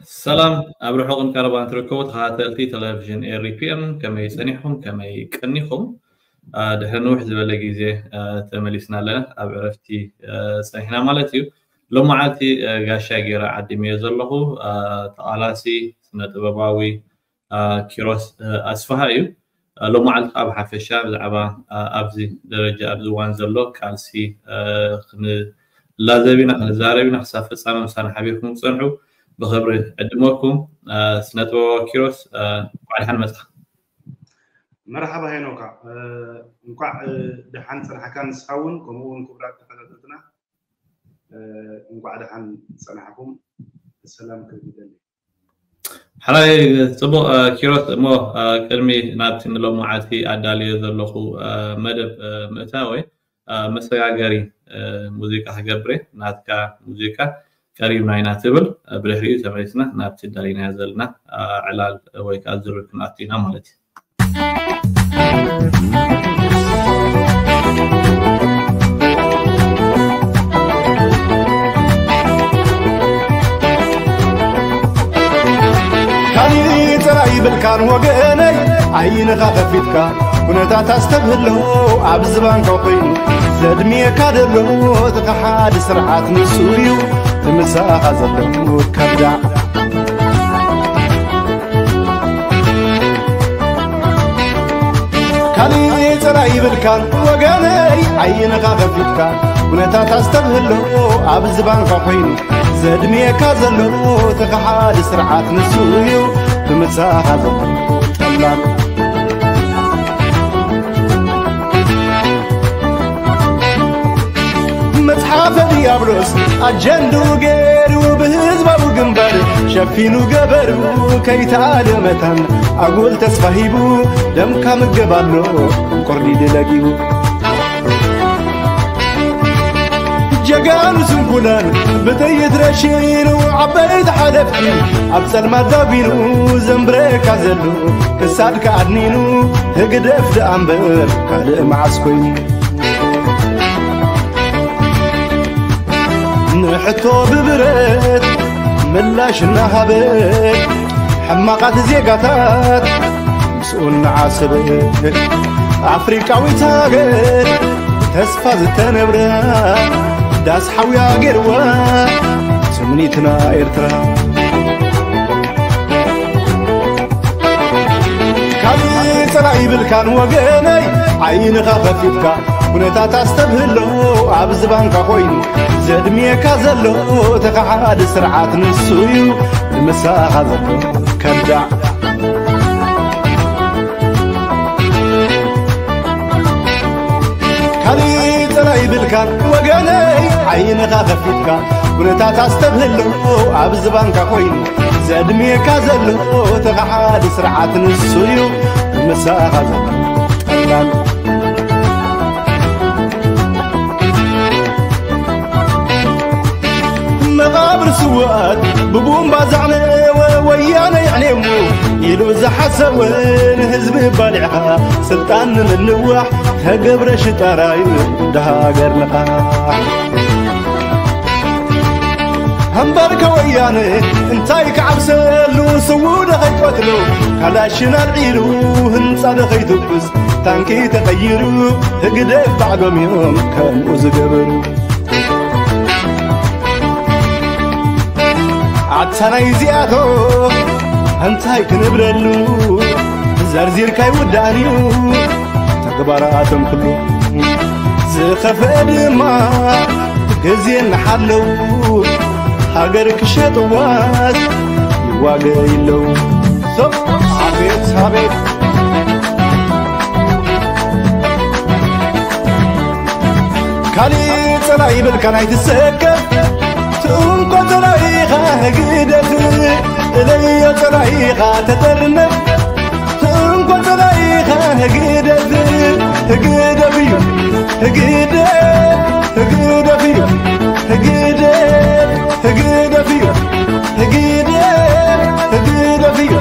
ሰላም ኣብ ርሑቕን ቀረባን ትርከቡ ተኸታተልቲ ቴሌቪዥን ኤሪፒኤም፣ ከመይ ጸኒሕኩም? ከመይ ቀኒኹም? አ፣ ድሕሪ ንውሕ ዝበለ ግዜ፣ አ፣ ተመሊስና ኣለና። ኣብ ዕረፍቲ፣ አ፣ ጸኒሕና ማለት እዩ። ሎመዓልቲ፣ አ፣ ጋሻ ገይረ ዓዲመዮ ዘለኹ፣ አ፣ ተቓላሲ ስነ ጥበባዊ፣ አ፣ ኪሮስ፣ አ፣ ኣስፍሃ እዩ። አ፣ ሎመዓልቲ ከዓ ብሓፈሻ ብዛዕባ፣ አ፣ ኣብዚ ደረጃ ኣብዚ እዋን ዘሎ ቃልሲ፣ አ፣ ክንላዘብ ኢና፣ ክንዛረብ ኢና። ክሳብ ፍጻመ ምሳና ሓቢርኩም ክትጸንሑ ብኽብሪ ዕድመኩም። አ፣ ስነ ጥበባዊ ኪሮስ፣ አ፣ እንኳዕ ደሓን መጻ። መርሓባ ሄኖካ፣ እ፣ እንኳዕ፣ እ፣ ደሓን ጸናሕካ ንስኻ እውን፣ ከምኡ እውን ክቡራት ተኸታተልትና፣ እ፣ እንኳዕ ደሓን ጸናሕኩም። ሰላም ክብል ይደሊ። ሕራይ ጽቡቕ፣ እ፣ ኪሮስ፣ እሞ፣ እ፣ ቅድሚ ናብቲ ንሎመዓልቲ ኣዳልዮ ዘለኹ፣ እ፣ መደብ፣ እ፣ ምእታወይ፣ እ፣ መሰጋገሪ፣ እ፣ ሙዚቃ ክገብር እየ። ናትካ ሙዚቃ ቀሪብና ኢና ትብል፣ እ፣ ብድሕሪኡ ተመሊስና ናብቲ ኣዳሊናዮ ዘለና፣ እ፣ ዕላል ወይ ከዓ ዝርርብ ክንኣቱ ኢና ማለት እዩ። ካሊእ ጥራይ ይብልካን ወገነይ፣ ዓይንኻ ከፊትካ ኩነታት ኣስተብህሎ፣ ኣብ ዝባንካ ኮይኑ ዘድምየካ ዘሎ እቲ ከሓዲ ስርዓት ንሱ እዩ፣ እቲ ምሳኻ ዘሎ ከዳዕ። ካሊእ ጥራይ ይብልካን ወገነይ፣ ዓይንኻ ከፊትካ ኩነታት ኣስተብህሎ፣ ኣብ ዝባንካ ኮይኑ ዘድምየካ ዘሎ እቲ ከሓዲ ስርዓት ንሱ እዩ፣ እቲ ምሳኻ ዘሎ ጠላም። መጽሓፈ ዲያብሎስ ኣጀንድኡ ገይሩ ብህዝባዊ ግንባር ሸፊኑ ገበሩ ከይተኣለ መታን ኣጉል ተስፋ ሂቡ ደምካ ምገብ ኣሎ ቁርዲድ ለጊቡ። ጀጋኑ ስንኩላን ብጥይት ረሺኑ ዓበይቲ ሓለፍቲ ኣብ ጸልማት ዳጒኑ ዘንብረካ ዘሎ ክሳድካ ኣድኒኑ ህግደፍ ደኣ እምበር ካልእ መዓስ ኮይኑ። ንሕቶ ብብረት ምላሽ እናሃበ ሕማቓት ዜጋታት ምስኡ እናዓሰበ ኣፍሪቃዊት ሃገር ተስፋ ዝተነብረ ዳስ ሓውያ ገይርዋ ትምኒትና ኤርትራ። ካልእ ጸላኢ ይብልካን ወገነይ ዓይንኻ ከፊትካ ኩነታት ኣስተብህሎ ኣብ ዝባንካ ኮይኑ ዘድምየካ ዘሎ እቲ ከሓዲ ስርዓት ንሱ እዩ ንምሳኻ ዘሎ ከዳዕ። ካልእ ጸላኢ ይብልካን ወገነይ ዓይንኻ ከፊትካ ኩነታት ኣስተብህሎ ኣብ ዝባንካ ኮይኑ ዘድምየካ ዘሎ እቲ ከሓዲ ስርዓት ንሱ እዩ ምሳኻ ዘሎ ጠላም። መቓብር ስውኣት ብቡምባ ዘዕነወ ወያነ የዕኔሙ ኢሉ ዝሓሰወ ንህዝቢ ባሊዕኻ ስልጣን ንምንዋሕ ተገብረ ሽጣራዩ ድሃገር ንቓሕ። እምበርከ ወያነ እንታይ ክዓብሰሉ ስዉ ዶ ከይቀትሉ ካላሽን ኣልዒሉ ህንጻ ዶ ከይትኩስ ታንኪ ተቐይሩ ህግደፍ ባዕሎም እዮም ከምኡ ዝገበሩ። ኣታ ናይ እዚኣቶም እንታይ ክንብለሉ ዘርዚርካ ይውዳእን እዩ ተግባራቶም ኩሉ። ዝኸፍአ ድማ ግዜ እናሓለው ሃገር ክሸጥዋስ ይዋገ ይለው። ሰብ ኣቤት ኣቤት። ካልእ ጸላኢ ይብልካ ናይ ትሰከፍ ትእንኮ ጸላኢኻ ህግደፍ እለዮ ጸላኢኻ ተጠርነፍ ትእንኮ ጸላኢኻ ህግደፍ ህግደፍ እዩ ህግደፍ ህግደፍ እዩ ህግደፍ ህግደፍ እዩ ህግደፍ ህግደፍ እዩ።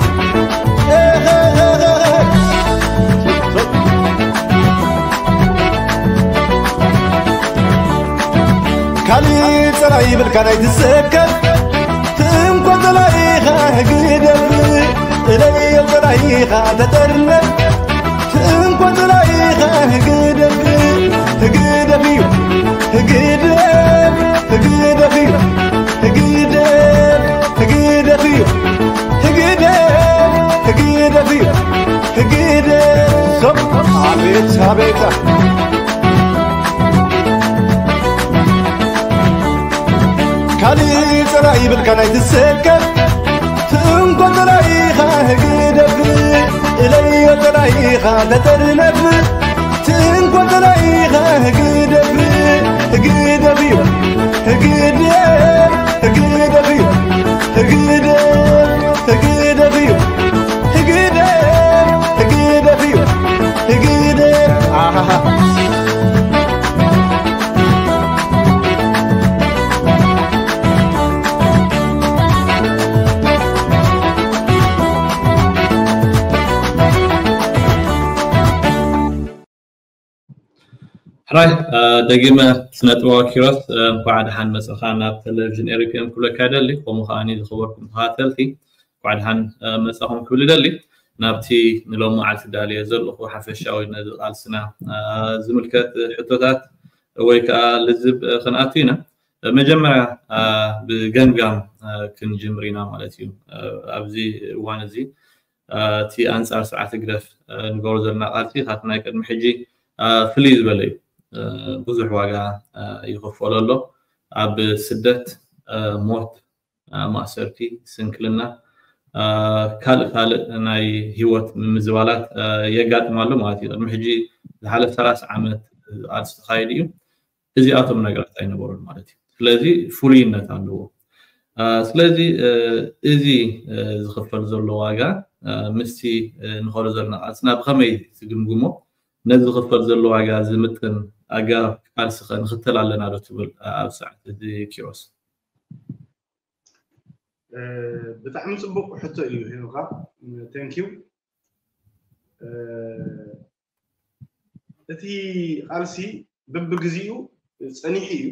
ካልእ ጸላኢ ይብልካ ናይ ትሰከፍ ትእንኮ ጸላኢኻ ኢኻ ተጠርነፍ ትእንኮ ጥራይ ኢኻ ህግደፍ ህግደፍ እዩ ህግደፍ ህግደፍ እዩ ህግደፍ ህግደፍ እዩ ህግደፍ ህግደፍ እዩ ህግደፍ ሶብ ኣቤት ኣቤት ካልእ ጥራይ ይብልካ ናይ ትሰከፍ ትእንኮ ጥራይ ኢኻ ህግደፍ እለዮ ጥራይ ኢኻ ተጠርነፍ ትእንኮ ጥራይ ኢኻ ህግደፍ ህግደፍ እዩ ህግደፍ ህግደፍ እዩ ህግደፍ ህግደፍ እዩ ህግደፍ ህግደፍ እዩ ህግደፍ ኣሃሃ ሕራይ ደጊመ ስነጥበባዊ ኪሮስ እንኳዕ ደሓን መፅኻ ናብ ቴሌቪዥን ኤሪፒኤም ክብለካ ይደሊ። ከምኡ ከዓኒ ዝኸበርኩም ተኸታተልቲ እንኳዕ ደሓን መፃኹም ክብል ይደሊ። ናብቲ ንሎም መዓልቲ ዳልየ ዘለኹ ሓፈሻዊ ነዚ ቃልስና ዝምልከት ሕቶታት ወይ ከዓ ልዝብ ክንኣቱ ኢና። መጀመርያ ብገምጋም ክንጅምር ኢና ማለት እዩ። ኣብዚ እዋን እዚ እቲ ኣንፃር ስርዓት ህግደፍ ንገብሮ ዘለና ቃልሲ ካብቲ ናይ ቅድሚ ሕጂ ፍልይ ዝበለ እዩ። ብዙሕ ዋጋ ይኽፈሎ ኣሎ። ኣብ ስደት፣ ሞት፣ ማእሰርቲ፣ ስንክልና፣ ካልእ ካልእ ናይ ህይወት ምምዝባላት የጋጥም ኣሎ ማለት እዩ። ቅድሚ ሕጂ ዝሓለፈ ሰላሳ ዓመት ቃልሲ ተኻይዱ እዩ። እዚኣቶም ነገራት ኣይነበሩን ማለት እዩ። ስለዚ ፍሉይነት ኣለዎ። ስለዚ እዚ ዝኽፈል ዘሎ ዋጋ ምስቲ ንኸዶ ዘለና ቃልስና ብኸመይ ትግምግሞ? ነዚ ዝኽፈል ዘሎ ዋጋ ዝምጥን ኣገባብ ቃልሲ ኸ ንኽተል ኣለና ዶ ትብል ኣብ ሰዓት እዚ ኪሮስ? ብጣዕሚ ፅቡቅ ሕቶ እዩ ሄኖካ። Thank you። እቲ ቃልሲ በብግዚኡ ፀኒሑ እዩ።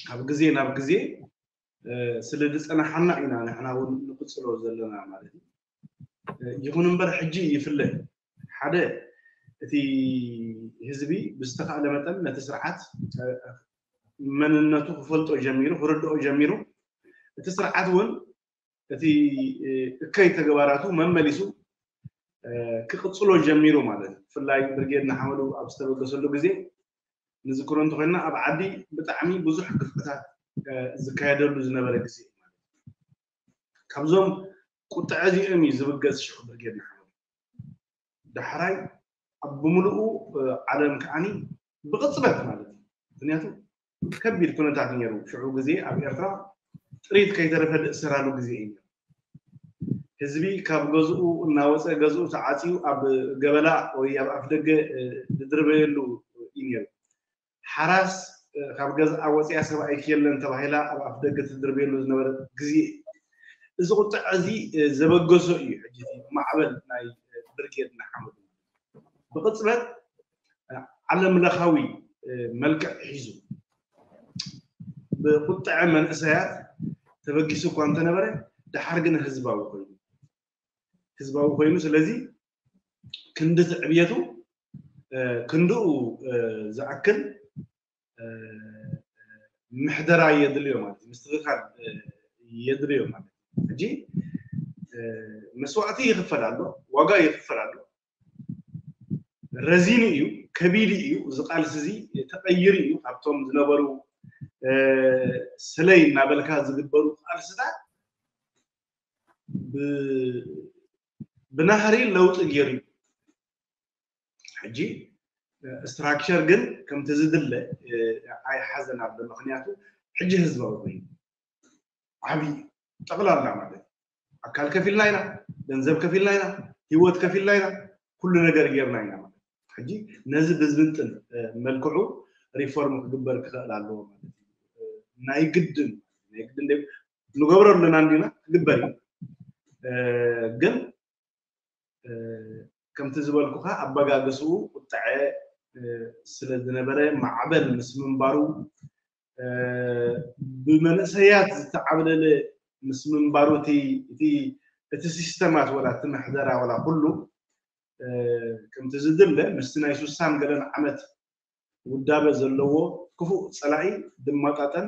ካብ ግዜ ናብ ግዜ ስለ ዝፀናሓና ኢና ንሕና እውን ንቅፅሎ ዘለና ማለት እዩ። ይኹን እምበር ሕጂ ይፍለ ሓደ እቲ ህዝቢ ብዝተኻእለ መጠን ነቲ ስርዓት መንነቱ ክፈልጦ ጀሚሩ ክርድኦ ጀሚሩ እቲ ስርዓት እውን እቲ እከይ ተግባራቱ መመሊሱ ክቕፅሎ ጀሚሩ ማለት እዩ። ብፍላይ ብርጌድ ንሓመዱ ኣብ ዝተበገሰሉ ግዜ ንዝክሮ እንተኮይንና ኣብ ዓዲ ብጣዕሚ ብዙሕ ግፍዕታት ዝካየደሉ ዝነበረ ግዜ እዩ ማለት እዩ። ካብዞም ቁጥዐ እዚኦም እዩ ዝብገስ ሽዑ ብርጌድ ንሓመዱ። ዳሕራይ ኣብ ብምልኡ ዓለም ከዓኒ ብቕፅበት ማለት እዩ። ምክንያቱ ከቢድ ኩነታት ነይሩ ሽዑ ግዜ ኣብ ኤርትራ ጥሪት ከይተረፈ ዝእሰራሉ ግዜ እዩ። ህዝቢ ካብ ገዝኡ እናወፀ ገዝኡ ተዓፅዩ ኣብ ገበላ ወይ ኣብ ኣፍደገ ዝድርበየሉ እዩ ነይሩ። ሓራስ ካብ ገዝኣ ወፅያ ሰብኣይኪ የለን ተባሂላ ኣብ ኣፍደገ ትድርበየሉ ዝነበረ ግዜ እዩ። እዚ ቁጥዐ እዚ ዘበገሶ እዩ ሕጂ ማዕበል ናይ ብርጌድ ንሓመዱ። ብቕፅበት ዓለም ለኻዊ መልክዕ ሒዙ ብቁጥዐ መንእሰያት ተበጊሱ እኳ እንተነበረ ድሓር ግን ህዝባዊ ኮይኑ ህዝባዊ ኮይኑ ስለዚ ክንዲ ትዕብየቱ ክንድኡ ዝኣክል ምሕደራ የድልዮ ማለት እዩ ምስትኽኻል የድልዮ ማለት እዩ ሕጂ መስዋእቲ ይኽፈል ኣሎ ዋጋ ይኽፈል ኣሎ ረዚኑ እዩ ከቢዱ እዩ እዚ ቃልሲ እዚ ተቐይሩ እዩ ካብቶም ዝነበሩ ስለይ እናበልካ ዝግበሩ ቃልስታት ብናህሪ ለውጢ ገይሩ እዩ ሕጂ ስትራክቸር ግን ከምቲ ዝድለ ኣይሓዘን ኣሎ ምክንያቱ ሕጂ ህዝባዊ ኮይኑ ዓብዪ ጠቕላላ ማለት ኣካል ከፊልና ኢና ገንዘብ ከፊልና ኢና ህይወት ከፊልና ኢና ኩሉ ነገር ጌርና ኢና ማለት ሕጂ ነዚ ብዝምጥን መልክዑ ሪፎርም ክግበር ክኽእል ኣለዎ ማለት እዩ ናይ ግድን ናይ ግድን ንገብሮ ኣለና እንዲና ክግበር እዩ ግን ከምቲ ዝበልኩኻ ኣበጋግስኡ ቁጥዐ ስለ ዝነበረ ማዕበል ምስ ምንባሩ ብመንእሰያት ዝተዓብለለ ምስ ምንባሩ እቲ እቲ ሲስተማት ወላ እቲ ምሕደራ ወላ ኩሉ ከምቲ ዝድለ ምስቲ ናይ ሱሳን ገለን ዓመት ውዳበ ዘለዎ ክፉእ ፀላኢ ድማጣጠን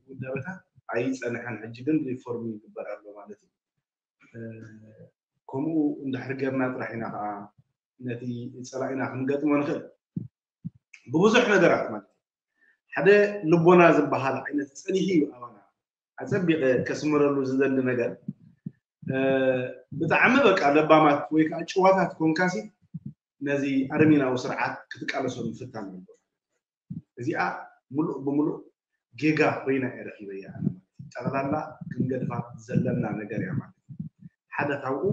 ውዳበታት ኣይፀንሐን። ሕጂ ግን ሪፎርም ይግበር ኣሎ ማለት እዩ። ከምኡ እንድሕር ጌርና ጥራሕ ኢና ከዓ ነቲ ፀላኢና ክንገጥሞ ንኽእል። ብብዙሕ ነገራት ማለት ሓደ ልቦና ዝበሃል ዓይነት ፀኒሑ እዩ ኣባና። ኣፀቢቐ ከስምረሉ ዝደሊ ነገር ብጣዕሚ በቃ ለባማት ወይ ከዓ ጭዋታት ኮንካሲ ነዚ ኣረሜናዊ ስርዓት ክትቃለሶ ምፍታን ኣሎ። እዚኣ ሙሉእ ብሙሉእ ጌጋ ኮይና እየ ረኪበያ። ጠቕላላ ክንገድፋ ዘለና ነገር እያ ማለት ሓደ ካብኡ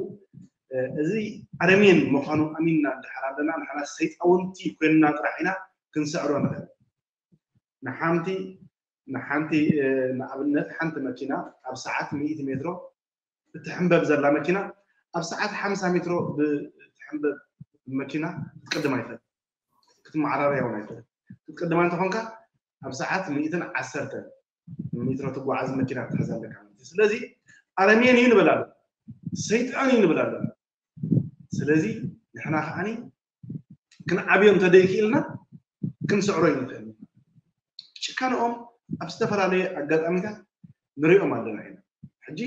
እዚ ኣረሜን ምዃኑ ኣሚንና እንድሕር ኣለና ንሕና ሰይጣውንቲ ኮይንና ጥራሕ ኢና ክንስዕሮ ንኽእል። ንሓንቲ ንሓንቲ ንኣብነት ሓንቲ መኪና ኣብ ሰዓት ሚእቲ ሜትሮ እትሕንበብ ዘላ መኪና ኣብ ሰዓት ሓምሳ ሜትሮ ብትሕንበብ መኪና ክትቅድማ ይኽእል ክትመዓራርያ እውን ኣይትኽእል ክትቅድማ እንተኾንካ ኣብ ሰዓት ሚእትን ዓሰርተ ሜትሮ ትጓዓዝ መኪና ክትሕዝ ኣለካ ማለት እዩ ስለዚ ኣረሜን እዩ ንብል ኣለና ሰይጣን እዩ ንብል ኣለና ስለዚ ንሕና ከዓኒ ክንዓብዮ እንተደይክኢልና ክንስዕሮ ይንኽእል ጭካንኦም ኣብ ዝተፈላለየ ኣጋጣሚታት ንሪኦም ኣለና ኢና ሕጂ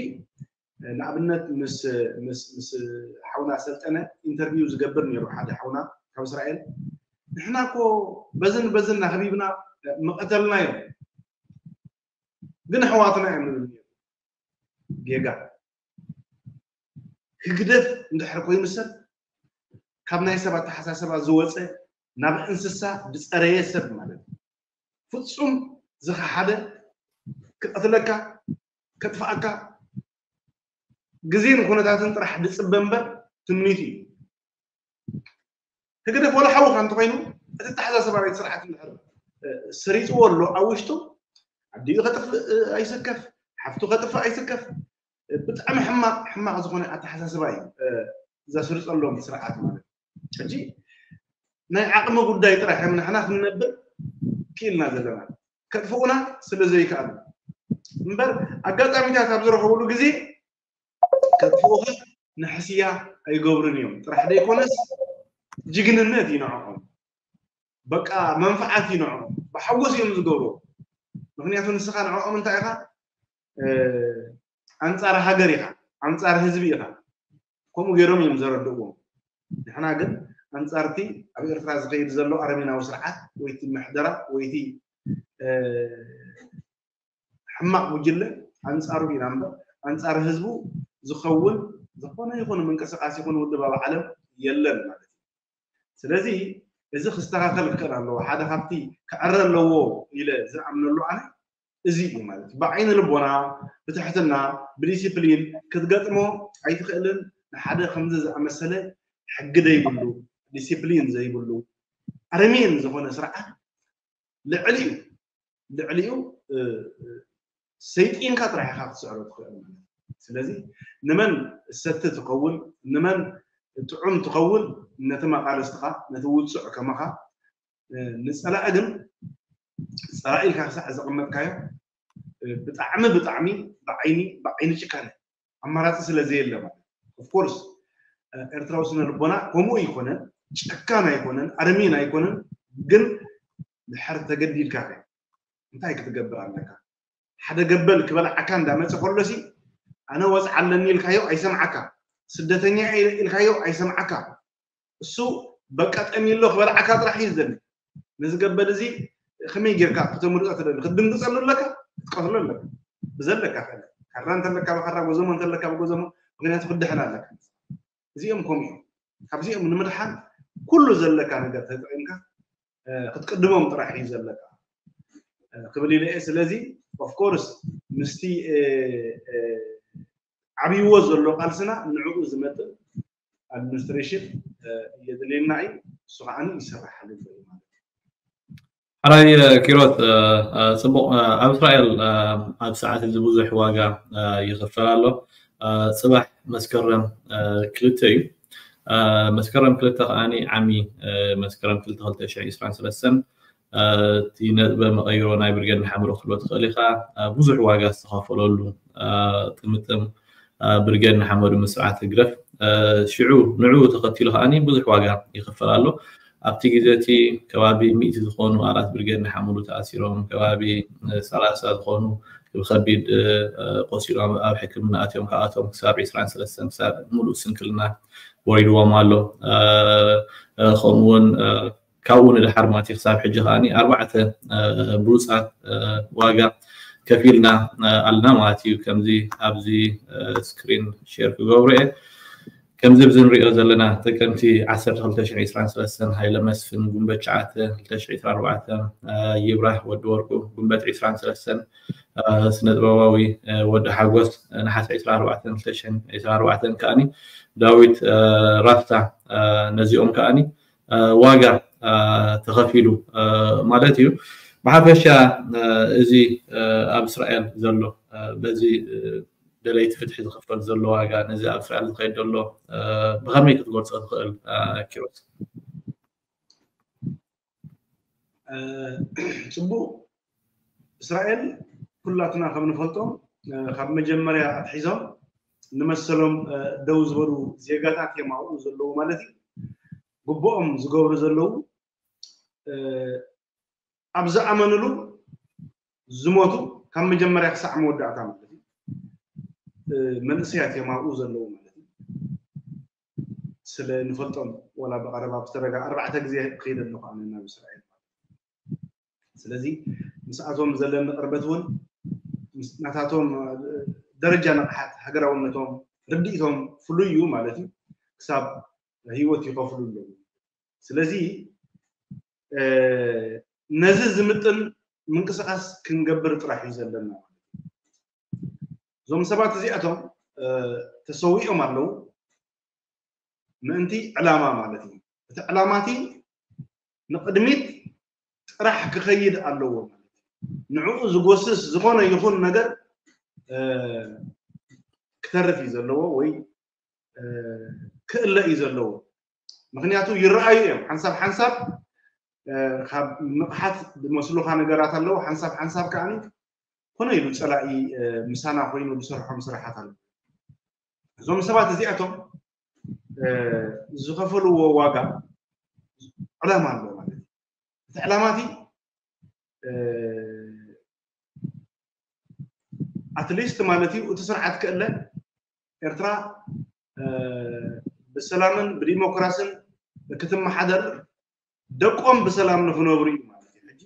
ንኣብነት ምስ ምስ ምስ ሓውና ሰልጠነ ኢንተርቪው ዝገብር ነይሩ ሓደ ሓውና ካብ እስራኤል ንሕና እኮ በዝን በዝን ናኸቢብና ምቐተልና እዮም ግን ኣሕዋትና እዮም ንብል ነይሩ ጌጋ ህግደፍ እንድሕር ኮይኑ ሰብ ካብ ናይ ሰብ ኣተሓሳሰባ ዝወፀ ናብ እንስሳ ዝፀረየ ሰብ ማለት እዩ ፍፁም ዝኸሓደ ክቐትለካ ከጥፍኣካ ግዜን ኩነታትን ጥራሕ ዝፅበ እምበር ትምኒቱ እዩ ህግደፍ ወላ ሓውኻ እንተኮይኑ እቲ ኣተሓሳሰባ ናይቲ ስርዓት እንድሕር ሰሪፅዎ ኣሎ ኣብ ውሽጡ ኣዲኡ ከጥፍእ ኣይስከፍ ሓፍቱ ከጥፍእ ኣይስከፍ ብጣዕሚ ሕማቅ ሕማቅ ዝኮነ ኣተሓሳስባ እዩ ዘስርፀሎም ስርዓት ማለት ሕጂ ናይ ዓቅሚ ጉዳይ ጥራሕ እዮም ንሕና ክንነብር ክኢልና ዘለና ከጥፍኡና ስለ ዘይከኣሉ እምበር ኣጋጣሚታት ኣብ ዝረኸብሉ ግዜ ከጥፍኡኻ ንሕስያ ኣይገብሩን እዮም ጥራሕ ዘይኮነስ ጅግንነት እዩ ንዕኦም በቃ መንፍዓት እዩ ንዕኦም ብሓጎስ እዮም ዝገብሩ ምክንያቱ ንስኻ ንዕኦም እንታይ ኢኻ ኣንፃር ሃገር ኢኻ ኣንፃር ህዝቢ ኢኻ ከምኡ ገይሮም እዮም ዘረድእዎም ንሕና ግን ኣንፃርቲ ኣብ ኤርትራ ዝኸይድ ዘሎ ኣረሜናዊ ስርዓት ወይቲ ምሕደራ ወይቲ ሕማቕ ጉጅለ ኣንፃሩ ኢና እምበር ኣንፃር ህዝቡ ዝኸውን ዝኾነ ይኹን ምንቅስቃስ ይኹን ውድብ ኣብ ዓለም የለን ማለት እዩ ስለዚ እዚ ክስተኻኸል ክኽእል ኣለዎ ሓደ ካብቲ ክዕረ ኣለዎ ኢለ ዝኣምነሉ ኣነ እዚ እዩ ማለት ብዓይኒ ልቦና ብትሕትና ብዲሲፕሊን ክትገጥሞ ኣይትኽእልን ንሓደ ከምዚ ዝኣመሰለ ሕጊ ዘይብሉ ዲሲፕሊን ዘይብሉ ኣረሜን ዝኾነ ስርዓት ልዕሊኡ ልዕሊኡ ሰይጢንካ ጥራሕ ኢኻ ክትስዕሮ ትኽእል ማለት ስለዚ ንመን ሰቲ ትኸውን ንመን ጥዑም ትኸውን ነቲ መቃለስትኻ ነቲ ውፅዕ ከማኻ ንፀላኢ ግን ፀላኢ ኢልካ ክሳዕ ዘቐመጥካዮ ብጣዕሚ ብጣዕሚ ብዓይኒ ብዓይኒ ጭካነ ኣማራፂ ስለ ዘየለ ማለት ኦፍኮርስ ኤርትራዊ ስነ ልቦና ከምኡ ኣይኮነን ጨካን ኣይኮነን ኣረሜን ኣይኮነን ግን ድሕር ተገዲድካ ከ እንታይ ክትገብር ኣለካ ሓደ ገበል ክበልዓካ እንዳመፀ ከሎሲ ኣነ ወፅዓ ኣለኒ ኢልካዮ ኣይሰምዓካ ስደተኛ ኢልካዮ ኣይሰምዓካ እሱ በቃ ጠሚሎ ክበልዓካ ጥራሕ እዩ ዝደሊ ነዚ ገበል እዚ ከመይ ጌርካ ክተምልጦ ትደሊ ክትድንግፀሉ ኣለካ ክትቀትሎ ኣለካ ብዘለካ ክእል ካራ እንተለካ ብካራ ጎዘሞ እንተለካ ብጎዘሞ ምክንያቱ ክድሕን ኣለካ እዚኦም ከምኡ እዮም ካብዚኦም ንምድሓን ኩሉ ዘለካ ነገር ተጠቂምካ ክትቅድሞም ጥራሕ እዩ ዘለካ ክብል ኢለ እየ ስለዚ ኦፍኮርስ ምስቲ ዓብይዎ ዘሎ ቃልስና ንዕኡ ዝመጥን ኣድሚኒስትሬሽን የድልየና እዩ እሱ ከዓ ይሰራሓሉ ማለት ሕራይ ኪሮስ ፅቡቅ ኣብ እስራኤል ኣብ ሰዓት እዚ ብዙሕ ዋጋ ይኽፈል ኣሎ ፅባሕ መስከረም ክልተ እዩ መስከረም ክልተ ከዓኒ ዓሚ መስከረም ክልተ ክልተ ሽሕ ዕስራን ሰለስተን እቲ ነጥበ መቐይሮ ናይ ብርጌድ ንሓምሮ ክትብሎ ትኽእል ኢኻ ብዙሕ ዋጋ ዝተኸፈለሉ ጥምጥም ብርጌድ ንሓመዱ ምስ ስርዓት ህግደፍ ሽዑ ንዕኡ ተኸቲሉ ከዓኒ ብዙሕ ዋጋ ይኽፈል ኣሎ። ኣብቲ ግዜ እቲ ከባቢ ሚእቲ ዝኾኑ ኣራት ብርጌድ ንሓመዱ ተኣሲሮም፣ ከባቢ ሰላሳ ዝኾኑ ብኸቢድ ቆሲሎም ኣብ ሕክምና ኣትዮም፣ ካብኣቶም ክሳብ ዕስራን ሰለስተን ክሳብ ሙሉእ ስንክልና ወሪድዎም ኣሎ። ከምኡ እውን ካብኡ ንድሓር ማለት እዩ ክሳብ ሕጂ ከዓኒ ኣርባዕተ ብሉፃት ዋጋ ከፊልና ኣለና ማለት እዩ። ከምዚ ኣብዚ ስክሪን ሼር ክገብሮ እየ። ከምዚ ኣብዚ ንሪኦ ዘለና ጥቅምቲ ዓሰርተ ክልተ ሽሕ ዕስራን ሰለስተን ሃይለ መስፍን፣ ጉንበት ትሽዓተ ክልተ ሽሕ ዕስራን ኣርባዕተን ይብራህ ወዲ ወርቁ፣ ጉንበት ዕስራን ሰለስተን ስነ ጥበባዊ ወዲ ሓጎስ፣ ነሓሰ ዕስራን ኣርባዕተን ክልተ ሽሕን ዕስራን ኣርባዕተን ከዓኒ ዳዊት ራስታ፣ ነዚኦም ከዓኒ ዋጋ ተኸፊሉ ማለት እዩ። ብሓፈሻ እዚ ኣብ እስራኤል ዘሎ በዚ ደለይቲ ፍትሒ ዝኽፈል ዘሎ ዋጋ፣ ነዚ ኣብ እስራኤል ዝኸይድ ዘሎ ብኸመይ ክትገልጾ ትኽእል ኪሮስ? ጽቡቕ። እስራኤል ኩላትና ከም ንፈልጦ ካብ መጀመርያ ኣትሒዞም ንመሰሎም ደው ዝበሉ ዜጋታት እዮም ኣብኡ ዘለዉ ማለት እዩ። ግቡኦም ዝገብሩ ዘለዉ ኣብ ዝኣመንሉ ዝሞቱ ካብ መጀመርያ ክሳዕ መወዳእታ ማለት እዩ መንእሰያት እዮም ኣብኡ ዘለዉ ማለት እዩ። ስለ ንፈልጦም ወላ ብቐረባ ብዝተደጋ ኣርባዕተ ግዜ ክኸይደ ኣለኹ ኣነ ናብ እስራኤል ማለት እዩ። ስለዚ ምስኣቶም ዘለኒ ቅርበት እውን ናታቶም ደረጃ ንቕሓት ሃገራውነቶም ርድኢቶም ፍሉይ እዩ ማለት እዩ። ክሳብ ህይወት ይኸፍሉ ኣለዉ። ስለዚ ነዚ ዝምጥን ምንቅስቃስ ክንገብር ጥራሕ እዩ ዘለና ማለት እዩ። እዞም ሰባት እዚኣቶም ተሰዊኦም ኣለዉ ምእንቲ ዕላማ ማለት እዩ። እቲ ዕላማ እቲ ንቕድሚት ጥራሕ ክኸይድ ኣለዎ ማለት እዩ። ንዕኡ ዝጎስስ ዝኾነ ይኹን ነገር ክተርፍ እዩ ዘለዎ ወይ ክእለ እዩ ዘለዎ። ምክንያቱ ይረኣዩ እዮም ሓንሳብ ሓንሳብ ካብ ንቕሓት ዝመስሉካ ነገራት ኣለዉ ሓንሳብ ሓንሳብ ከዓ ኮነ ኢሉ ፀላኢ ምሳና ኮይኑ ዝሰርሖም ስራሓት ኣለዉ። እዞም ሰባት እዚኣቶም ዝኸፈልዎ ዋጋ ዕላማ ኣሎ ማለት እዩ። እቲ ዕላማ እቲ ኣትሊስት ማለት እዩ እቲ ስርዓት ክእለ ኤርትራ ብሰላምን ብዲሞክራስን ክትመሓደር ደቆም ብሰላም ንክነብሩ እዩ ማለት እዩ። ሕጂ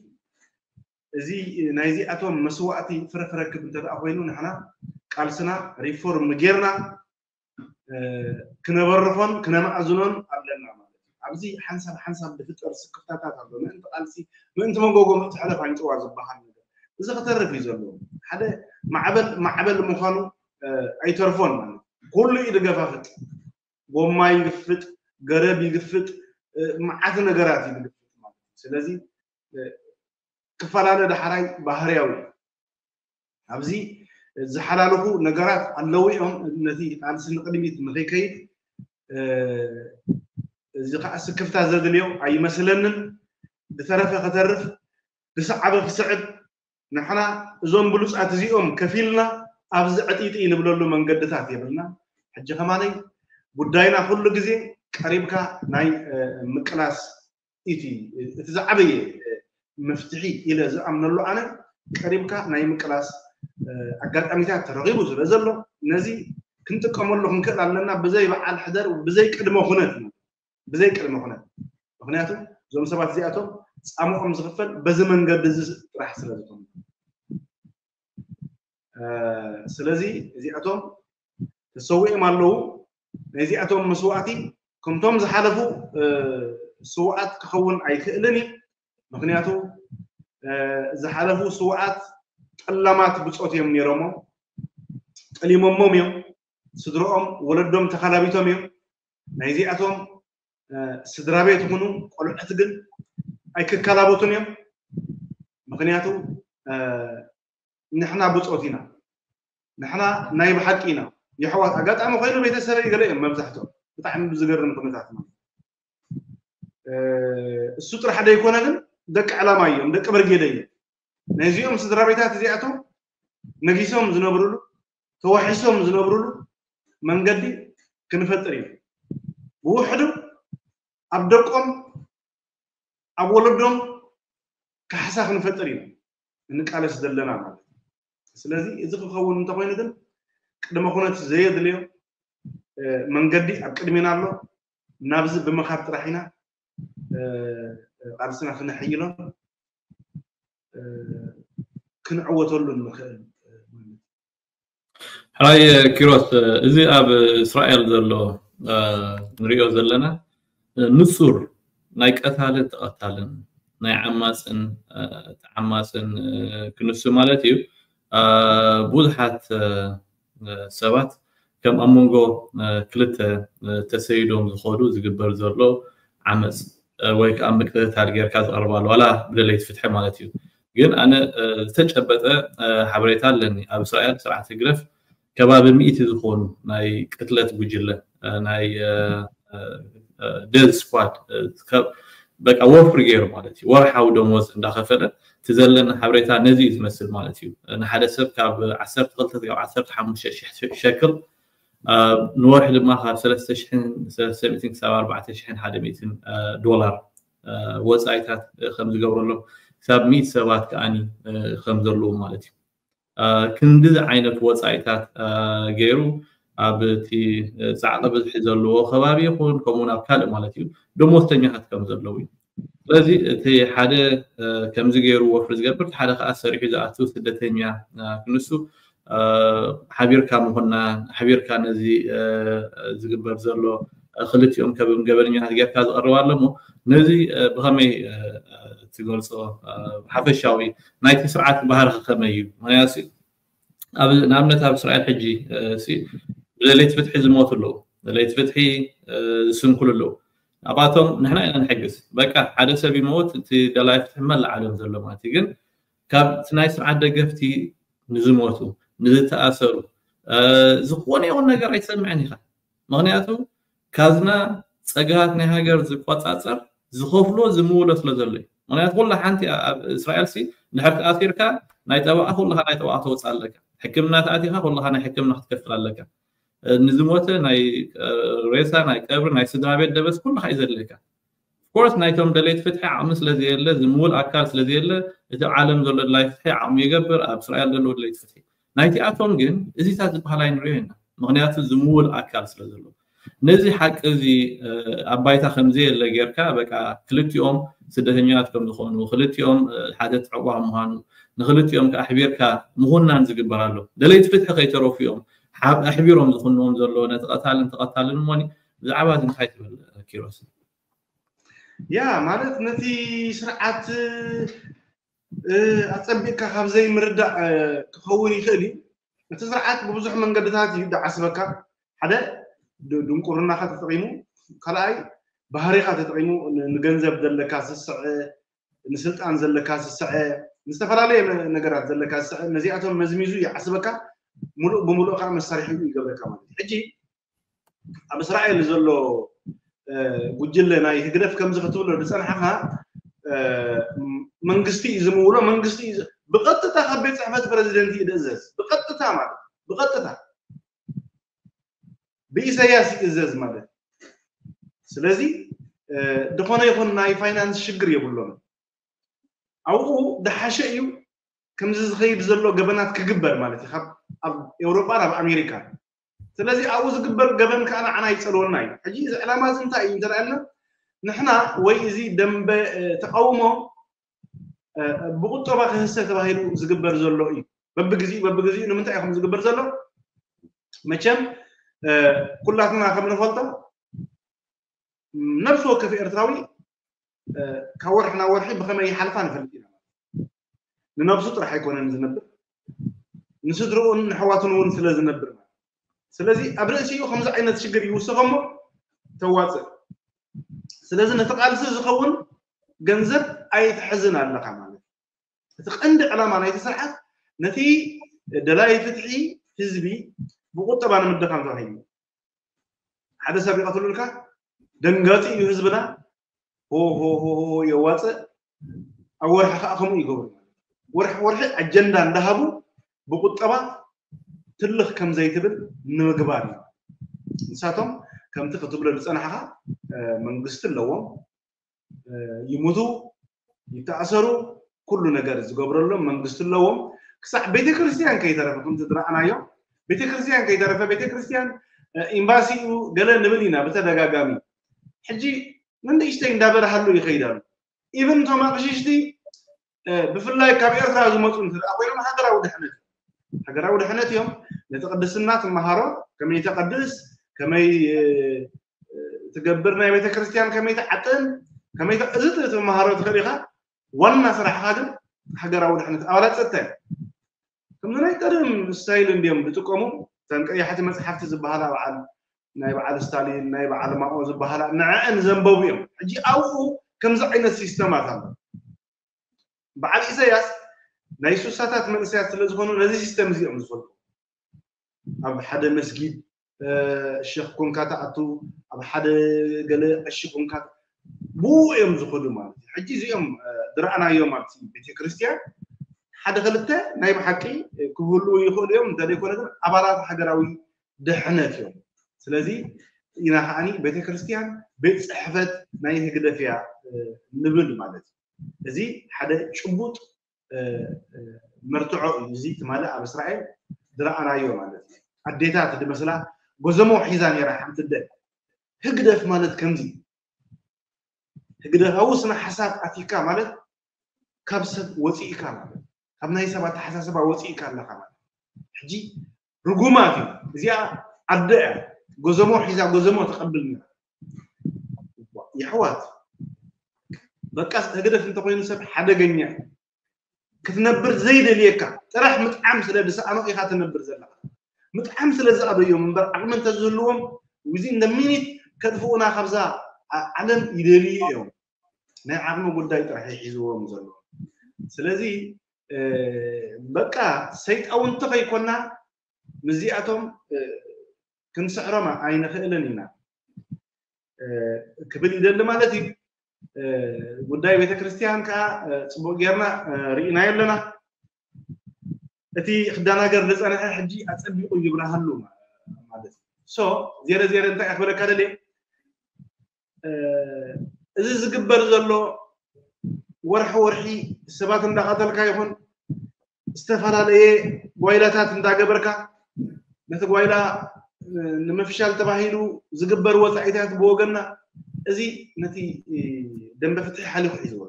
እዚ ናይዚኣቶም መስዋእቲ ፍረ ክረክብ እንተ ደኣ ኮይኑ ንሕና ቃልስና ሪፎርም ጌርና ክነበርኾን ክነማእዝኖን ኣለና ማለት እዩ። ኣብዚ ሓንሳብ ሓንሳብ ዝፍጠር ስክፍታታት ኣሎ። ምእንቲ ቃልሲ ምእንቲ መንጎጎ ምእንቲ ሕለፍ ኣይንጥዋ ዝበሃል ነገር እዚ ክተርፍ እዩ ዘለዎ። ሓደ ማዕበል ማዕበል ምዃኑ ኣይተርፎን ማለት ኩሉ እዩ ዝገፋፍጥ። ጎማ ይግፍጥ፣ ገረብ ይግፍጥ፣ መዓት ነገራት እዩ ዝግፍጥ ማለት እዩ። ስለዚ ክፈላለ ዳሕራይ ባህርያዊ ኣብዚ ዝሓላለፉ ነገራት ኣለዉ እዮም። ነቲ ቃልሲ ንቕድሚት ንኸይከይድ እዚ ከዓ ስክፍታ ዘድልዮ ኣይመስለንን። ዝተረፈ ከተርፍ ዝሰዓበ ክስዕብ ንሕና እዞም ብሉፃት እዚኦም ከፊልና ኣብዚ ዕጢጢ ንብለሉ መንገድታት የብልና። ሕጂ ከማነይ ጉዳይና ኩሉ ግዜ ቀሪብካ ናይ ምቅላስ እቲ እቲ ዝዓበየ መፍትሒ ኢለ ዝኣምነሉ ኣነ ቀሪብካ ናይ ምቅላስ ኣጋጣሚታት ተረኺቡ ስለ ዘሎ ነዚ ክንጥቀመሉ ክንክእል ኣለና። ብዘይ በዓል ሕደር ብዘይ ቅድመ ኩነት ብዘይ ቅድመ ኩነት ምክንያቱ እዞም ሰባት እዚኣቶም ፃምኦም ዝኽፈል በዚ መንገዲ እዚ ጥራሕ ስለ ዝኾነ ስለዚ እዚኣቶም ተሰዊኦም ኣለዉ። ናይዚኣቶም መስዋእቲ ከምቶም ዝሓለፉ ስውኣት ክኸውን ኣይክእልን እዩ። ምክንያቱ ዝሓለፉ ስውኣት ጠላማት ብፆት እዮም ነይሮሞ፣ ጠሊሞሞም እዮም። ስድረኦም ወለዶም ተካላቢቶም እዮም። ናይዚኣቶም ስድራ ቤት ይኹኑ ቆልዑት ግን ኣይክከላበቱን እዮም። ምክንያቱ ንሕና ብፆት ኢና፣ ንሕና ናይ ብሓቂ ኢና። የሕዋት ኣጋጣሚ ኮይኑ ቤተሰበይ ገለ እዮም መብዛሕትኦም ብጣዕሚ ብዝገርም ኩነታት ማለት እሱ ጥራሕ ደይኮነ ግን ደቂ ዕላማ እዮም፣ ደቂ ብርጌደ እዮም። ናይዚኦም ስድራ ቤታት እዚኣቶም ነጊሶም ዝነብርሉ ተዋሒሶም ዝነብርሉ መንገዲ ክንፈጥር ኢና። ብውሕዱ ኣብ ደቆም ኣብ ወለዶም ካሕሳ ክንፈጥር ኢና እንቃለስ ዘለና ማለት እዩ። ስለዚ እዚ ክኸውን እንተኮይኑ ግን ቅድመ ኩነት ዘየድልዮ መንገዲ ኣብ ቅድሜና ኣሎ። ናብዚ ብምኻድ ጥራሕ ኢና ቃልስና ክነሐይሎን ክንዕወተሉን ንኽእል። ሕራይ ኪሮስ፣ እዚ ኣብ እስራኤል ዘሎ ንሪኦ ዘለና ንጹር ናይ ቀታልን ተቐታልን ናይ ዓማፅን ተዓማፅን ክንሱ ማለት እዩ። ብዙሓት ሰባት ከም ኣብ መንጎ ክልተ ተሰይዶም ዝኸዱ ዝግበር ዘሎ ዓመፅ ወይ ከዓ ምቅትታል ጌርካ ዝቐርባሉ ዋላ ብደለይቲ ፍትሒ ማለት እዩ። ግን ኣነ ዝተጨበጠ ሓበሬታ ኣለኒ። ኣብ እስራኤል ስርዓት ህግደፍ ከባቢ ሚእቲ ዝኾኑ ናይ ቅትለት ጉጅለ ናይ ደዝ ስኳድ በቃ ወፍሪ ገይሩ ማለት እዩ። ወርሓዊ ደሞዝ እንዳኸፈለ እቲ ዘለና ሓበሬታ ነዚ እዩ ዝመስል ማለት እዩ። ንሓደ ሰብ ካብ ዓሰርተ ክልተ ካብ ዓሰርተ ሓሙሽተ ሺሕ ሸክል ንወርሒ ድማ ካብ ሰለስተ ሽሕን ሰለስተ ሚእትን ክሳብ ኣርባዕተ ሽሕን ሓደ ሚእትን ዶላር ወፃኢታት ከም ዝገብረሎም ክሳብ ሚእቲ ሰባት ከዓኒ ከም ዘለዉ ማለት እዩ። ክንድዚ ዓይነት ወፃኢታት ገይሩ ኣብ እቲ ፃዕቂ ብዝሒ ዘለዎ ከባቢ ይኹን ከምኡውን ኣብ ካልእ ማለት እዩ ደሞዝተኛታት ከም ዘለዉ እዩ። ስለዚ እቲ ሓደ ከምዚ ገይሩ ወፍሪ ዝገብር ሓደ ከዓ ሰሪሑ ዝኣቱ ስደተኛ ክንሱ ሓቢርካ ምኾና ሓቢርካ ነዚ ዝግበር ዘሎ ክልቲኦም ከም ገበነኛታት ጌርካ ዝቐርብ ኣሎ እሞ ነዚ ብኸመይ ትገልፆ? ሓፈሻዊ ናይቲ ስርዓት ባህሪ ከመይ እዩ? ምክንያቱ ንኣብነት ኣብ እስራኤል ሕጂ ብደለይቲ ፍትሒ ዝሞቱ ኣለዉ፣ ደለይቲ ፍትሒ ዝስንክሉ ኣለዉ። ኣብኣቶም ንሕና ኢና ንሕግዝ። በቃ ሓደ ሰብ ይመውት እቲ ደላይ ፍትሒ መላእ ዓለም ዘሎ ማለት እዩ። ግን ካብ እቲ ናይ ስርዓት ደገፍቲ ንዝሞቱ ንዝተኣሰሩ ዝኾነ ይኹን ነገር ኣይትሰምዕን ኢኻ። ምክንያቱ ካዝና ፀግሃት ናይ ሃገር ዝቆፃፀር ዝኸፍሎ ዝምውሎ ስለ ዘሎ እዩ። ምክንያቱ ኩላ ሓንቲ ኣብ እስራኤል ሲ ድሕር ተኣሲርካ ናይ ጠበቃ ኩልካ ናይ ጠበቃ ተወፅእ ኣለካ። ሕክምና ተኣቲካ ኩልካ ናይ ሕክምና ክትከፍል ኣለካ። ንዝሞተ ናይ ሬሳ ናይ ቀብሪ ናይ ስድራ ቤት ደበስ ኩልካ እዩ ዘድልየካ። ኮርስ ናይቶም ደለይቲ ፍትሒ ዓቕሚ ስለዘየለ ዝምውል ኣካል ስለዘየለ እቲ ዓለም ዘሎ ድላይ ፍትሒ ዓቕሚ ይገብር ኣብ እስራኤል ዘለዉ ደለይቲ ፍትሒ ናይቲኣቶም ግን እዚታት ዝበሃል ኣይንሪኦ ኢና። ምክንያቱ ዝምውል ኣካል ስለ ዘሎ ነዚ ሓቂ እዚ ኣብ ባይታ ከምዘየለ ጌርካ በቃ ክልቲኦም ስደተኛታት ከም ዝኾኑ ክልቲኦም ሓተት ዕቑባ ምዃኑ ንክልቲኦም ከዓ ኣሕቢርካ ምኹናን ዝግበር ኣሎ። ደለይቲ ፍትሒ ከይተረፉ እዮም ኣሕቢሮም ዝኹንዎም ዘሎ ነቲ ቀታልን ተቐታልን እሞኒ ብዛዕባ እዚ እንታይ ትብል ኪሮስ? ያ ማለት ነቲ ስርዓት ኣፀቢቕካ ካብ ዘይምርዳእ ክኸውን ይኽእል እዩ። እቲ ስርዓት ብብዙሕ መንገድታት እዩ ዝዓስበካ። ሓደ ድንቁርናኻ ተጠቒሙ፣ ካልኣይ ባህሪኻ ተጠቒሙ ንገንዘብ ዘለካ ስስዐ፣ ንስልጣን ዘለካ ስስዐ፣ ንዝተፈላለየ ነገራት ዘለካ ስስዐ ነዚኣቶም መዝሚዙ ይዓስበካ። ሙሉእ ብሙሉእ ከዓ መሳርሒ ይገብረካ ማለት እዩ። ሕጂ ኣብ እስራኤል ዘሎ ጉጅለ ናይ ህግደፍ ከምዚ ክትብሎ ዝፀናሕኻ መንግስቲ እዩ ዝምውሎ። መንግስቲ ብቐጥታ ካብ ቤት ፅሕፈት ፕረዚደንት እዩ ዝእዘዝ። ብቐጥታ ማለት ብቐጥታ ብኢሳያስ ይእዘዝ ማለት። ስለዚ ዝኾነ ይኹን ናይ ፋይናንስ ሽግር የብሎም። ኣብኡ ዝሓሸ እዩ ከምዚ ዝኸይድ ዘሎ ገበናት ክግበር ማለት እዩ ኣብ ኤውሮጳ ኣብ ኣሜሪካ። ስለዚ ኣብኡ ዝግበር ገበን ከዓ ንዓና ይፀልወና እዩ። ሕጂ እዚ ዕላማ እዚ እንታይ እዩ እንተደኣልና ንሕና ወይ እዚ ደንበ ተቃውሞ ብቁጠባ ክህሰ ተባሂሉ ዝግበር ዘሎ እዩ። በብግዚኡ በብግዚኡ ንምንታይ ከም ዝግበር ዘሎ መቸም ኩላትና ከም ንፈልጦ ነብሲ ወከፍ ኤርትራዊ ካብ ወርሒ ናብ ወርሒ ብኸመይ ይሓልፋ ንፈልጥ ኢና። ንነብሱ ጥራሕ ኣይኮነን ዝነብር፣ ንስድርኡን ንሕዋቱን እውን ስለ ዝነብር ማለት። ስለዚ ኣብ ርእሲኡ ከምዚ ዓይነት ሽግር ይውስኸ እሞ ተዋፅእ። ስለዚ ነቲ ቃልሲ ዝኸውን ገንዘብ ኣይትሕዝን ኣለኻ ማለት እዩ። እቲ ቀንዲ ዕላማ ናይቲ ስርዓት ነቲ ደላይ ፍትሒ ህዝቢ ብቁጠባ ንምድኻም ተባሂሉ ሓደ ሰብ ይቐትሉልካ ደንጋፂ እዩ ህዝብና ሆ ሆ ሆ የዋፅእ ኣብ ወርሒ ከዓ ከምኡ ይገብሩ ወርሒ ወርሒ ኣጀንዳ እንዳሃቡ ብቁጠባ ትልኽ ከም ዘይትብል ንምግባር እዩ። ንሳቶም ከምቲ ክትብሎ ዝፀናሕኻ መንግስቲ ኣለዎም፣ ይሙቱ፣ ይተኣሰሩ፣ ኩሉ ነገር ዝገብረሎም መንግስቲ ኣለዎም። ክሳዕ ቤተክርስትያን ከይተረፈ ከምቲ ዝረኣናዮ፣ ቤተክርስትያን ከይተረፈ፣ ቤተክርስትያን ኤምባሲኡ ገለ ንብል ኢና ብተደጋጋሚ። ሕጂ ንንእሽተይ እንዳበረሃሉ ይኸይድ ኣሎ። ኢቨን እቶም ኣቕሽሽቲ ብፍላይ ካብ ኤርትራ ዝመፁ እንተ ኮይኖም ሃገራዊ ድሕነት ሃገራዊ ድሕነት እዮም። ነቲ ቅድስና ትመሃሮ፣ ከመይ ተቐድስ፣ ከመይ ትገብር፣ ናይ ቤተክርስትያን ከመይ ትዓጥን፣ ከመይ እዚ ትመሃሮ ትኽእል ኢኻ። ዋና ስራሕኻ ግን ሃገራዊ ድሕነት ኣባላት ፀጥታ እዮም። ከምዚ ናይ ቀደም ስታይል እንዲዮም ዝጥቀሙ። እተን ቀያሕቲ መፅሓፍቲ ዝበሃላ በዓል ናይ በዓል ስታሊን ናይ በዓል ማኦ ዝበሃላ ንዐአን ዘንበቡ እዮም። ሕጂ ኣብኡ ከምዚ ዓይነት ሲስተማት ኣሎ። በዓል ኢሳያስ ናይ ሱሳታት መንእሰያት ስለ ዝኾኑ ነዚ ሲስተም እዚኦም ዝፈልጡ ኣብ ሓደ መስጊድ ሸኽ ኮንካ ትኣቱ፣ ኣብ ሓደ ገለ ቀሺ ኮንካ ብኡ እዮም ዝኸዱ ማለት እዩ። ሕጂ እዚኦም ዝረኣናዮም ኣብቲ ቤተክርስትያን ሓደ ክልተ ናይ ብሓቂ ክህልዉ ይኽእሉ እዮም፣ እንተዘይኮነ ግን ኣባላት ሃገራዊ ድሕነት እዮም። ስለዚ ኢና ከዓኒ ቤተክርስትያን ቤት ፅሕፈት ናይ ህግደፍ እያ ንብል ማለት እዩ። እዚ ሓደ ጭቡጥ መርትዖ እዩ። እዚ ትማሊ ኣብ እስራኤል ዝረኣናዮ ማለት እዩ። ኣዴታት ዝመስላ ጎዘሞ ሒዛ ነይራ ሓንቲ ኣደ። ህግደፍ ማለት ከምዚ ህግደፋዊ ስነ ሓሳብ ኣቲካ ማለት ካብ ሰብ ወፂእካ ማለት ካብ ናይ ሰብ ኣተሓሳስባ ወፂእካ ኣለካ ማለት ሕጂ ርጉማት እዩ። እዚኣ ኣደ እያ ጎዘሞ ሒዛ ጎዘሞ ተቐብል ነይራ። የሕዋት በቃ ህግደፍ እንተኮይኑ ሰብ ሓደገኛ ክትነብር ዘይደልየካ ጥራሕ ምጥዓም ስለ ዝሰኣኖ ኢኻ ትነብር ዘለኻ። ምጥዓም ስለ ዝኣበዮም እምበር ዓቕሚ እንተዝህልዎም within the minute ከጥፍኡና ካብዛ ዓለም ይደልዩ እዮም። ናይ ዓቕሚ ጉዳይ ጥራሕ ይሒዝዎም ዘሎ። ስለዚ በቃ ሰይጣውንቲ ከይኮና ምስዚኣቶም ክንስዕሮም ኣይንኽእልን ኢና ክብል ይደሊ ማለት እዩ። ጉዳይ ቤተክርስትያን ከዓ ፅቡቅ ጌርና ርኢናዮ ኣለና። እቲ ክደናገር ዝፀንሐ ሕጂ ኣፀቢቁ ይብራሃሉ ማለት እዩ። ዜረ ዜረ እንታይ ክብለካ ደልየ፣ እዚ ዝግበር ዘሎ ወርሒ ወርሒ ሰባት እንዳቀተልካ ይኹን ዝተፈላለየ ጓይላታት እንዳገበርካ ነቲ ጓይላ ንምፍሻል ተባሂሉ ዝግበር ወፃኢታት ብወገንና እዚ ነቲ ደንበ ፍትሒ ሓሊፉ ሒዝዎ።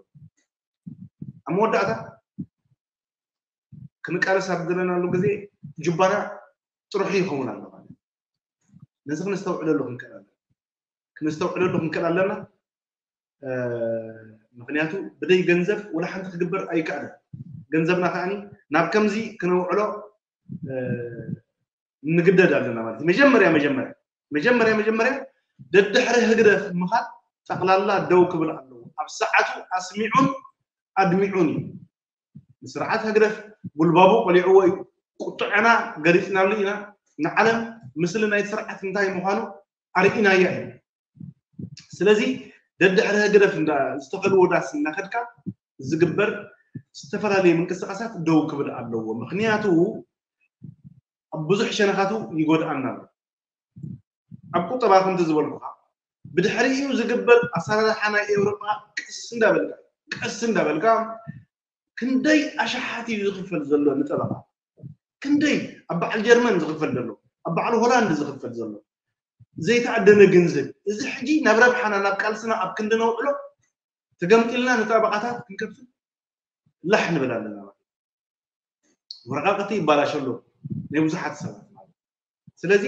ኣብ መወዳእታ ክንቃለስ ኣብ ዘለናሉ ግዜ ጁባና ጥርሑ ይኸውን ኣሎ ማለት ነዚ ክነስተውዕለሉ ክንክእል ኣለና። ክነስተውዕለሉ ክንክእል ኣለና። ምክንያቱ ብደይ ገንዘብ ወላ ሓንቲ ክግበር ኣይከኣልን። ገንዘብና ከዓኒ ናብ ከምዚ ክነውዕሎ ንግደድ ኣለና ማለት እዩ። መጀመርያ መጀመርያ መጀመርያ መጀመርያ ደድሕሪ ህግደፍ ምኻድ ጠቕላላ ደው ክብል ኣለዎ። ኣብ ሰዓቱ ኣስሚዑን ኣድሚዑን እዩ። ንስርዓት ህግደፍ ጉልባቡ ቆሊዕዎ እዩ። ቁጥዐና ገሊፅናሉ ኢና። ንዓለም ምስሊ ናይ ስርዓት እንታይ ምዃኑ ኣርኢናያ እዩ። ስለዚ ደድሕሪ ህግደፍ ዝተኸልዎ ዳስ እናኸድካ ዝግበር ዝተፈላለዩ ምንቅስቃሳት ደው ክብል ኣለዎ። ምክንያቱ ኣብ ብዙሕ ሸነኻቱ ይጎድኣና ኣሎ። ኣብ ቁጠባ ከምቲ ዝበልኩኻ ብድሕሪኡ ዝግበር ኣሰራርሓ ናይ ኤውሮጳ ቀስ እንዳበልካ ቀስ እንዳበልካ ክንደይ ኣሽሓት እዩ ዝኽፈል ዘሎ ንጠበቓ? ክንደይ ኣብ በዓል ጀርመን ዝኽፈል ዘሎ፣ ኣብ በዓል ሆላንድ ዝኽፈል ዘሎ ዘይተኣደነ ገንዘብ። እዚ ሕጂ ናብ ረብሓና ናብ ቃልስና ኣብ ክንዲ ነውዕሎ ተገምጢልና ንጠበቓታት ክንከፍል ላሕ ንብል ኣለና ማለት ወረቃቅቲ ይባላሽ ኣሎ ናይ ብዙሓት ሰባት ማለት ስለዚ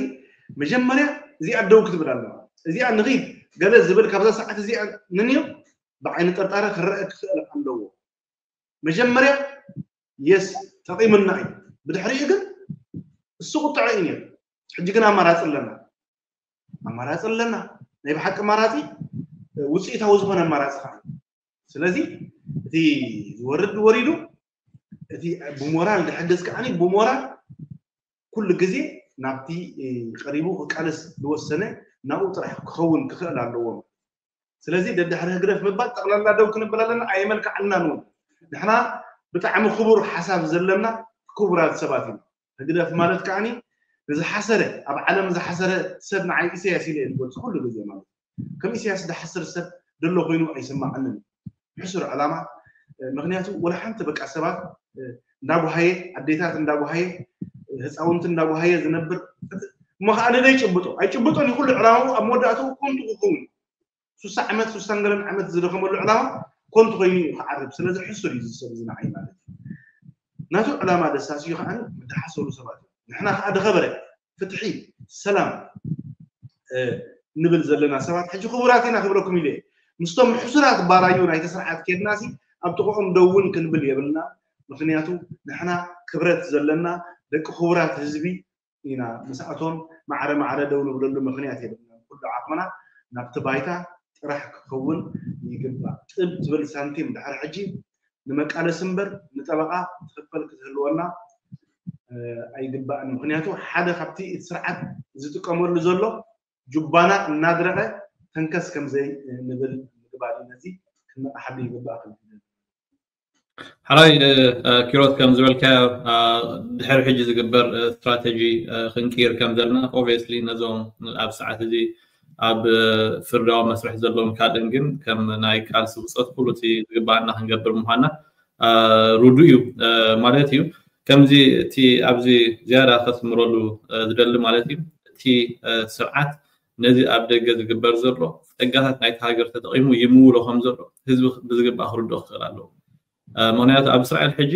መጀመርያ እዚኣ ደው ክትብል ኣለዋ። እዚኣ ንኺድ ገለ ዝብል ካብዛ ሰዓት እዚኣ ንንዮ ብዓይኒ ጥርጣረ ክረአ ክኽእል ኣለዎ። መጀመርያ የስ ጠቒምና እዩ። ብድሕሪኡ ግን እሱ ቁጥዐ እዩ ነይሩ። ሕጂ ግን ኣማራፂ ኣለና። ኣማራፂ ኣለና። ናይ ብሓቂ ኣማራፂ ውፅኢታዊ ዝኾነ ኣማራፂ ከዓ ስለዚ እቲ ዝወርድ ወሪዱ እቲ ብሞራል ዝሕግዝ ከዓኒ ብሞራል ኩሉ ግዜ ናብቲ ቀሪቡ ክቃለስ ዝወሰነ ናብኡ ጥራሕ ክኸውን ክኽእል ኣለዎም። ስለዚ ደድሕሪ ህግደፍ ምባል ጠቕላላ ደው ክንብል ኣለና ኣየመልክዓልናን እውን። ንሕና ብጣዕሚ ክቡር ሓሳብ ዘለና ክቡራት ሰባት ኢና። ህግደፍ ማለት ከዓኒ ንዝሓሰረ ኣብ ዓለም ዝሓሰረ ሰብ ንዓይ ኢሳያስ ኢለ እየ ዝገልፆ ኩሉ ግዜ ማለት እዩ። ከም ኢሳያስ ዝሓስር ሰብ ዘሎ ኮይኑ ኣይስማዓንን። ሕሱር ዕላማ ምክንያቱ ወላ ሓንቲ በቃ ሰባት እንዳጓሃየ ኣዴታት እንዳጓሃየ ህፃውንቲ እንዳጓሃየ ዝነብር እሞ ከዓ ንደይ ጭብጦ ኣይጭብጦን ይኩሉ ዕላማኡ ኣብ መወዳእትኡ ኮንቱ ክኸውን ሱሳ ዓመት ሱሳን ገለን ዓመት ዝደኸመሉ ዕላማ ኮንቱ ኮይኑ እዩ ክዓርብ ስለዚ ሕሱር እዩ ዝሰብ እዚ ንዓይ ማለት እዩ ናቱ ዕላማ ደሳስ እዩ ከዓ ዝሓሰሩ ሰባት እዩ ንሕና ከዓ ድኸበረ ፍትሒ ሰላም ንብል ዘለና ሰባት ሕጂ ክቡራት ኢና ክብለኩም ኢለ ምስቶም ሕሱራት ባራዩ ናይቲ ስርዓት ኬድናሲ ኣብ ጥቕኦም ደውን ክንብል የብልና ምክንያቱ ንሕና ክብረት ዘለና ደቂ ክቡራት ህዝቢ ኢና ምስኣቶም ማዕረ ማዕረ ደው ንብለሉ ምክንያት የብልና ኩሉ ዓቕምና ናብቲ ባይታ ጥራሕ ክኸውን ይግባእ ጥብ ትብል ሳንቲም ድሕሪ ሕጂ ንመቃለሲ እምበር ንጠበቃ ትኽፈል ክትህልወና ኣይግባእን ምክንያቱ ሓደ ካብቲ እቲ ስርዓት ዝጥቀመሉ ዘሎ ጁባና እናድረቀ ተንከስ ከምዘይ ንብል ምግባር ነዚ ክንመቃሓሉ ይግባእ ክብል ሓራይ ኪሮት ከም ዝበልካዮ ድሕሪ ሕጂ ዝግበር ስትራተጂ ክንቅይር ከም ዘለና obviously ነዞም ኣብ ሰዓት እዚ ኣብ ፍርዳዊ መስርሕ ዘለዎም ካልእን ግን ከም ናይ ቃልሲ ብፆት ኩሉ እቲ ዝግባኣና ክንገብር ምኳና ርዱ እዩ ማለት እዩ ከምዚ እቲ ኣብዚ ዝያዳ ከስምረሉ ዝደሊ ማለት እዩ እቲ ስርዓት ነዚ ኣብ ደገ ዝግበር ዘሎ ጸጋታት ናይቲ ሃገር ተጠቒሙ ይምውሎ ከም ዘሎ ህዝቢ ብዝግባእ ክርድኦ ክኽእል ኣለዎ ምክንያቱ ኣብ እስራኤል ሕጂ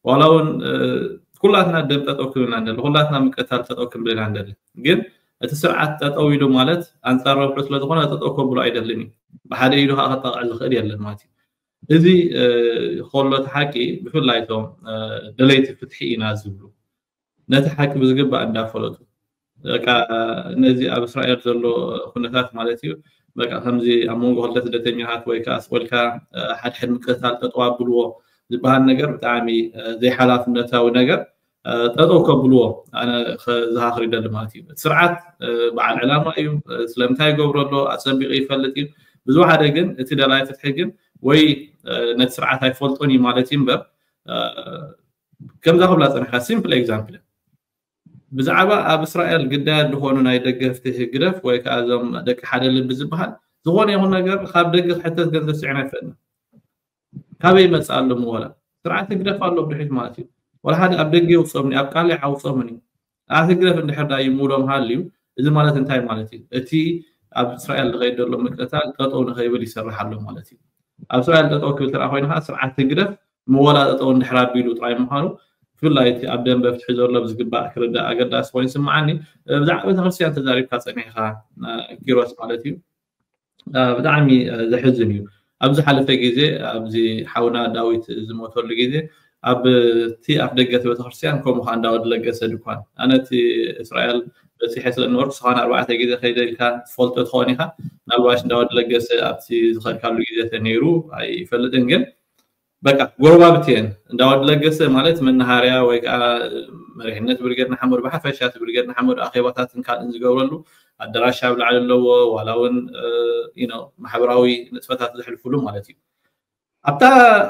ዋላ እውን ኩላትና ደም ጠጠው ክብልና እንደሊ ኩላትና ምቅታል ጠጠው ክንብል ኢና እንደሊ ግን እቲ ስርዓት ጠጠው ኢሉ ማለት ኣንፃር ረብሑ ስለዝኾነ ጠጠው ከብሎ ኣይደልን እዩ ብሓደ ኢሉ ከዓ ከጣቕዕ ዝኽእል የለን ማለት እዩ እዚ ከሎ እቲ ሓቂ ብፍላይ እቶም ደለይቲ ፍትሒ ኢና ዝብሉ ነቲ ሓቂ ብዝግባእ እንዳፈለጡ በቃ ነዚ ኣብ እስራኤል ዘሎ ኩነታት ማለት እዩ በቃ ከምዚ ኣብ መንጎ ክልተ ስደተኛታት ወይ ከዓ ስቆልካ ሓድሕድ ምቅትታል ጠጠው ኣብልዎ ዝበሃል ነገር ብጣዕሚ ዘይሓላፍነታዊ ነገር ጠጠው ከብልዎ ኣነ ዝሃኽር ይደሊ ማለት እዩ ስርዓት በዓል ዕላማ እዩ ስለምንታይ ይገብሮ ኣሎ ኣፀቢቑ ይፈልጥ እዩ ብዝወሓደ ግን እቲ ደላይ ፍትሒ ግን ወይ ነቲ ስርዓት ኣይፈልጦን እዩ ማለት እዩ እምበር ከምዛ ክብላ ፀንሕካ simple example ብዛዕባ ኣብ እስራኤል ግዳያት ዝኾኑ ናይ ደገፍቲ ህግደፍ ወይ ከዓ እዞም ደቂ ሓደ ልቢ ዝበሃል ዝኾነ ይኹን ነገር ካብ ደገ ክሕተት ገንዘብ ስዕን ኣይፈጥን ካበይ ይመፅእ ኣሎ ምወላ ስርዓት ህግደፍ ኣሎ ብድሕሪት ማለት እዩ ወላ ሓደ ኣብ ደገ ይውፅኦምኒ ኣብ ቃላይ ዓውፅኦምኒ ኣብ ህግደፍ እንድሕር ዳ ይምውሎም ሃልዩ እዚ ማለት እንታይ ማለት እዩ እቲ ኣብ እስራኤል ዝኸይድ ዘሎ ምቅታል ጠጠው ንኸይብል ይሰርሕ ኣሎ ማለት እዩ ኣብ እስራኤል ጠጠው ክብል ተራ ኮይኑ ከዓ ስርዓት ህግደፍ ምወላ ጠጠው እንድሕር ኣቢሉ ጥራይ ምዃኑ ብፍላይ እቲ ኣብ ደንበ ፍትሒ ዘሎ ብዝግባእ ክርዳእ ኣገዳሲ ኮይኑ ይስምዓኒ ብዛዕባ ቤተክርስትያን ተዛሪብካ ፀኒሕካ ኪሮስ ማለት እዩ ብጣዕሚ ዘሕዝን እዩ ኣብ ዝሓለፈ ግዜ ኣብዚ ሓውና ዳዊት ዝሞተሉ ግዜ ኣብቲ ኣፍ ደገ እቲ ቤተክርስትያን ከምኡ ከዓ እንዳወዲ ለገሰ ድኳን ኣነ እቲ እስራኤል በፂሐ ስለ ነበርኩ ስኻን ኣርባዕተ ግዜ ከይደ ኢልካ ትፈልጦ ትኸውን ኢካ ምናልባሽ እንዳወዲ ለገሰ ኣብቲ ዝኸድካሉ ግዜ ተነይሩ ኣይፈልጥን ግን በቃ ጎረባብቲ እየን እንዳወዲ ለገሰ ማለት መናሃርያ ወይ ከዓ መሪሕነት ብርጌድ ንሓመዱ ብሓፈሻ እቲ ብርጌድ ንሓመዱ ኣኼባታትን ካልእን ዝገብረሉ ኣደራሽ ኣብ ላዕሊ ኣለዎ ዋላ እውን ማሕበራዊ ንጥፈታት ዘሕልፍሉ ማለት እዩ ኣብታ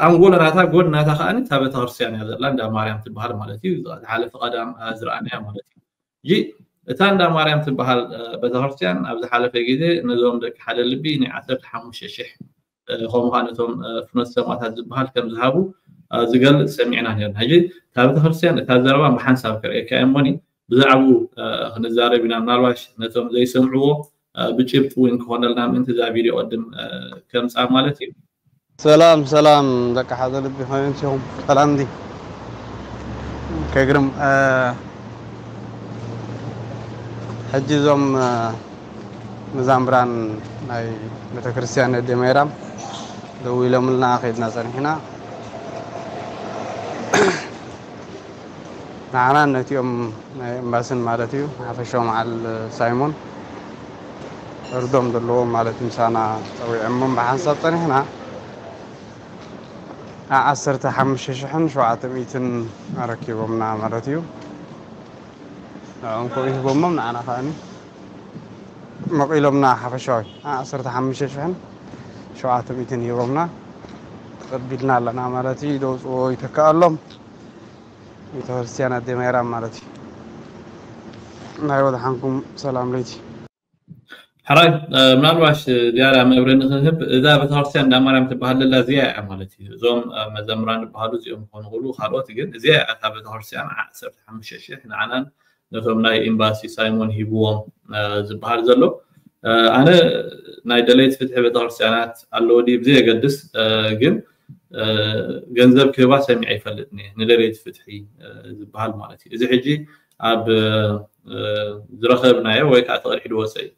ኣንጎሎ ናታ ጎን ናታ ከዓኒ እታ ቤተክርስትያን እያ ዘላ እንዳ ማርያም ትበሃል ማለት እዩ ዝሓለፈ ቀዳም ዝረኣናያ ማለት እዩ እጂ እታ እንዳ ማርያም ትበሃል ቤተክርስትያን ኣብ ዝሓለፈ ግዜ ነዞም ደቂ ሓደ ልቢ ናይ ዓሰርተ ሓሙሽተ ሽሕ ከምኡ ከዓ ነቶም ፍኖት ሰማእታት ዝበሃል ከም ዝሃቡ ዝገልፅ ሰሚዕና ነርና ሕጂ እታ ቤተክርስትያን እታ ዘረባ ብሓንሳብ ከርእየካ እየ እሞኒ ብዛዕባኡ ክንዛረብ ኢና ምናልባሽ ነቶም ዘይሰምዕዎ ብጭብጢ እውን ክኾነልና ምእንቲ እዛ ቪድዮ ቅድም ከምፃ ማለት እዩ ሰላም ሰላም ደቂ ሓደ ልቢ ከመይ ኣምሲኹም ሰላም እንዲ ከግርም ሕጂ እዞም መዛምራን ናይ ቤተክርስትያን ኣዴ ማይራም ደው ኢሎምልና ከይድና ፀኒሕና ንዓናን ነቲኦም ናይ ኤምባስን ማለት እዩ ሓፈሻዊ መዓል ሳይሞን እርዶም ዘለዎም ማለት ምሳና ፀዊዖሞም ብሓንሳብ ፀኒሕና ዓሰርተ ሓሙሽተ ሽሕን ሸውዓተ ሚእትን ኣረኪቦምና ማለት እዩ ንዕኦም ከምኡ ሂቦሞም ንዓና ከዓኒ መቒሎምና ሓፈሻዊ ዓሰርተ ሓሙሽተ ሽሕን ሸውዓተ ሚእትን ሂቦምና ተቐቢልና ኣለና ማለት እዩ ደውፅዎ ይተከኣሎም ቤተክርስትያን ኣዴ ማይራም ማለት እዩ ናይ ወድሓንኩም ሰላም ለይቲ። ሕራይ ምናልባሽ ዝያዳ መብረ ንክህብ እዛ ቤተክርስትያን እንዳ ማርያም ትበሃል ዘላ እዚኣ እያ ማለት እዩ። እዞም መዘምራን ዝበሃሉ እዚኦም ክኾኑ ክእሉ ካልኦት፣ ግን እዚኣ እያ እታ ቤተክርስትያን ዓሰርተ ሓሙሽተ ሺሕ ንዓናን ነቶም ናይ ኤምባሲ ሳይሞን ሂብዎም ዝበሃል ዘሎ። ኣነ ናይ ደለይቲ ፍትሒ ቤተክርስትያናት ኣለዎ ድዩ ብዘየገድስ፣ ግን ገንዘብ ክህባ ሰሚዐ ይፈልጥኒ ንደለይቲ ፍትሒ ዝበሃል ማለት እዩ። እዚ ሕጂ ኣብ ዝረኸብናዮ ወይ ከዓ ተቐድሒ ድወፀ እዩ።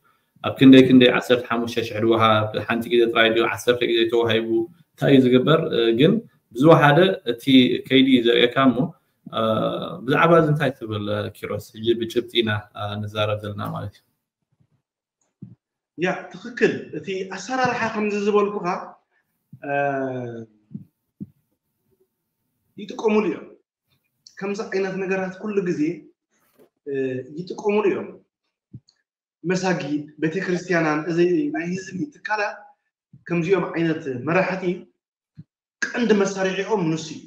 ኣብ ክንደይ ክንደይ ዓሰርተ ሓሙሽተ ሽሕ ድወሃብ፣ ሓንቲ ግዜ ጥራይ ድዩ ዓሰርተ ግዜ ተዋሂቡ፣ እንታይ እዩ ዝግበር? ግን ብዝወሓደ እቲ ከይዲ እዩ ዘርእየካ እሞ ብዛዕባ እዚ እንታይ ትብል ኪሮስ? ሕጂ ብጭብጢ ኢና ንዛረብ ዘለና ማለት እዩ። ያ ትክክል። እቲ ኣሰራርሓ ከምዚ ዝበልኩካ ይጥቀሙሉ እዮም። ከምዚ ዓይነት ነገራት ኩሉ ግዜ ይጥቀሙሉ እዮም። መሳጊድ፣ ቤተክርስትያናን እዚ ናይ ህዝቢ ትካላት ከምዚኦም ዓይነት መራሕቲ ቀንዲ መሳርሒኦም ንሱ እዩ።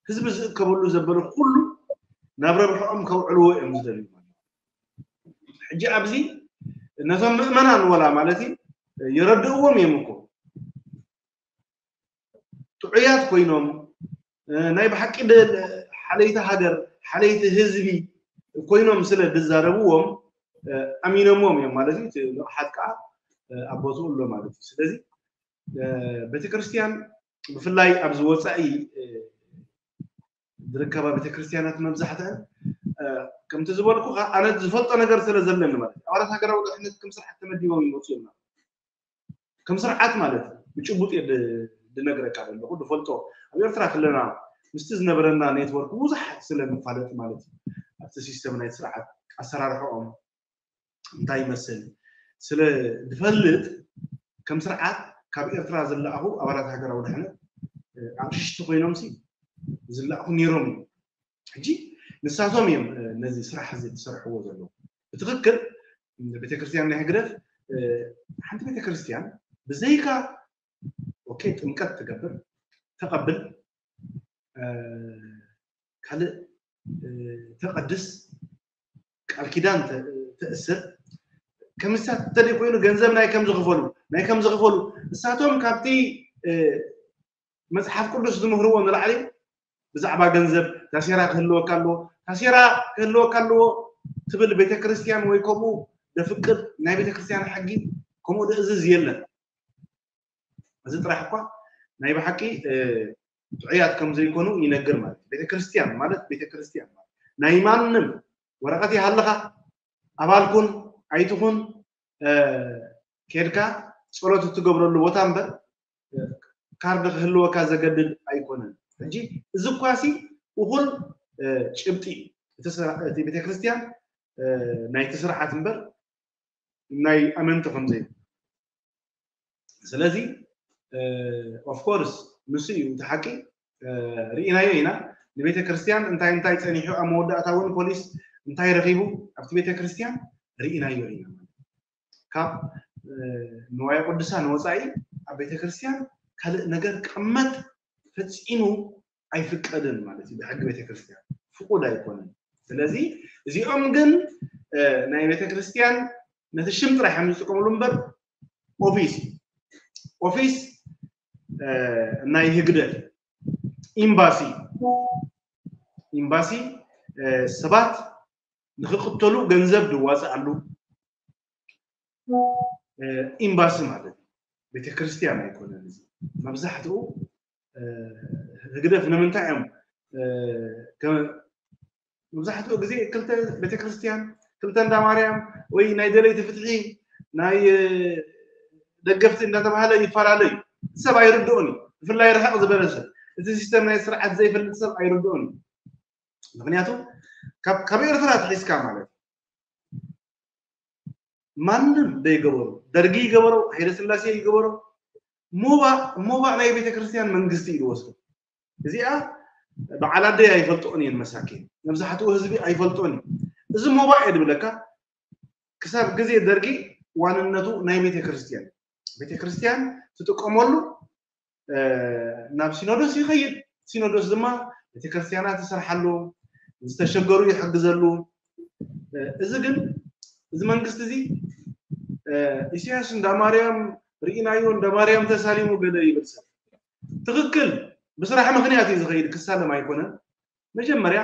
ህዝቢ ዝእከበሉ ዘበለ ኩሉ ናብ ረብሕኦም ከውዕልዎ እዮም ዝደልዩ። ሕጂ ኣብዚ ነቶም ምእመናን ወላ ማለት እዩ የረድእዎም እዮም እኮ ጥዑያት ኮይኖም ናይ ብሓቂ ሓለይቲ ሃገር ሓለይቲ ህዝቢ ኮይኖም ስለ ዝዛረብዎም ኣሚኖምዎም እዮም ማለት እዩ። ንቕሓት ከዓ ኣብ ቦትኡ ኣሎ ማለት እዩ። ስለዚ ቤተክርስትያን ብፍላይ ኣብዚ ወፃኢ ዝርከባ ቤተክርስትያናት መብዛሕትአን ከምቲ ዝበልኩ ኣነ ዝፈልጦ ነገር ስለ ዘለኒ ማለት እዩ። ኣባላት ሃገራዊ ድሕነት ከም ስርዓት ተመዲቦም ይመፁ እዮም። ከም ስርዓት ማለት ብጭቡጥ እየ ድነግረካ ዘለኹ ድፈልጦ። ኣብ ኤርትራ ከለና ምስቲ ዝነበረና ኔትወርክ ብዙሕ ስለ ንፋለጥ ማለት እዩ። ኣብቲ ሲስተም ናይ ስርዓት ኣሰራርሕኦም እንታይ ይመስል ስለ ድፈልጥ ከም ስርዓት ካብ ኤርትራ ዝለኣኹ ኣባላት ሃገራዊ ድሕነት ኣቕሽሽቲ ኮይኖም ሲ ዝለኣኹ ነይሮም እዮም። ሕጂ ንሳቶም እዮም ነዚ ስራሕ እዚ ዝሰርሕዎ ዘለዉ። ብትክክል ቤተክርስትያን ናይ ህግደፍ ሓንቲ ቤተክርስትያን ብዘይካ ኦኬ ጥምቀት ትገብር ተቐብል ካልእ ተቐድስ ቃል ኪዳን ተእስር ከምሳ ተደይ ኮይኑ ገንዘብ ናይ ከም ዝኽፈሉ ናይ ከም ዝኽፈሉ እሳቶም ካብቲ መፅሓፍ ቅዱስ ዝምህርዎ ንላዕሊ ብዛዕባ ገንዘብ ታሴራ ክህልወካ ኣለዎ ታሴራ ክህልወካ ኣለዎ ትብል ቤተክርስትያን ወይ ከምኡ ደፍቅድ ናይ ቤተክርስትያን ሕጊ ከምኡ ደእዝዝ የለን። እዚ ጥራሕ እኳ ናይ ብሓቂ ጥዑያት ከም ዘይኮኑ ይነግር ማለት ቤተክርስትያን ማለት ቤተክርስትያን ናይ ማንም ወረቀት ይሃልኻ ኣባልኩን ኣይትኹን ኬድካ ጸሎት እትገብረሉ ቦታ እምበር ካርድ ክህልወካ ዘገድድ ኣይኮነን። ሕጂ እዚ እኳሲ እኹል ጭብጢ እቲ ቤተክርስትያን ናይቲ ስርዓት እምበር ናይ ኣመንቲ ከምዘይ ስለዚ ኦፍኮርስ ንሱ እዩ እቲ ሓቂ ርኢናዮ ኢና ንቤተ ክርስትያን እንታይ እንታይ ፀኒሑ ኣብ መወዳእታ እውን ፖሊስ እንታይ ረኺቡ ኣብቲ ቤተ ክርስትያን ርኢናዮ ኢና ካብ ንዋየ ቅዱሳን ወፃኢ ኣብ ቤተ ክርስትያን ካልእ ነገር ክቕመጥ ፈፂሙ ኣይፍቀድን ማለት እዩ ብሕጊ ቤተ ክርስትያን ፍቁድ ኣይኮነን ስለዚ እዚኦም ግን ናይ ቤተ ክርስትያን ነቲ ሽም ጥራሕ እዮም ዝጥቀምሉ እምበር ኦፊስ ኦፊስ ናይ ህግደፍ ኤምባሲ ኤምባሲ ሰባት ንክቅተሉ ገንዘብ ዝዋፅኣሉ ኤምባሲ ማለት እዩ ቤተክርስትያን ኣይኮነን እዚ መብዛሕትኡ ህግደፍ ንምንታይ እዮም መብዛሕትኡ ግዜ ክልተ ቤተክርስትያን ክልተ እንዳ ማርያም ወይ ናይ ደለይቲ ፍትሒ ናይ ደገፍቲ እንዳተባሃለ ይፈላለዩ ሰብ ኣይርድኦን እዩ ብፍላይ ርሕቕ ዝበለ ሰብ እቲ ሲስተም ናይ ስርዓት ዘይፈልጥ ሰብ ኣይርድኦን እዩ ምክንያቱ ካብ ኤርትራ ትሒዝካ ማለት ማንም ዘይገበሮ ደርጊ ይገበሮ ሃይለስላሴ ይገበሮ ሞባእ ሞባእ ናይ ቤተክርስትያን መንግስቲ እዩ ዝወስዶ እዚኣ በዓል ኣደይ ኣይፈልጥኦን እየን መሳኪን መብዛሕትኡ ህዝቢ ኣይፈልጦን እዩ እዚ ሞባእ እየ ድብለካ ክሳብ ግዜ ደርጊ ዋንነቱ ናይ ቤተክርስትያን ቤተክርስትያን ትጥቀመሉ ናብ ሲኖዶስ ይኸይድ ሲኖዶስ ድማ ቤተክርስትያናት ይሰርሓሉ ዝተሸገሩ ይሕግዘሉ እዚ ግን እዚ መንግስቲ እዚ ኢሳያስ እንዳ ማርያም ርኢናዮ፣ እንዳ ማርያም ተሳሊሙ ገለ ይብል ሰብ። ትኽክል፣ ብስራሕ ምኽንያት እዩ ዝኸይድ፣ ክሳለም ኣይኮነን። መጀመርያ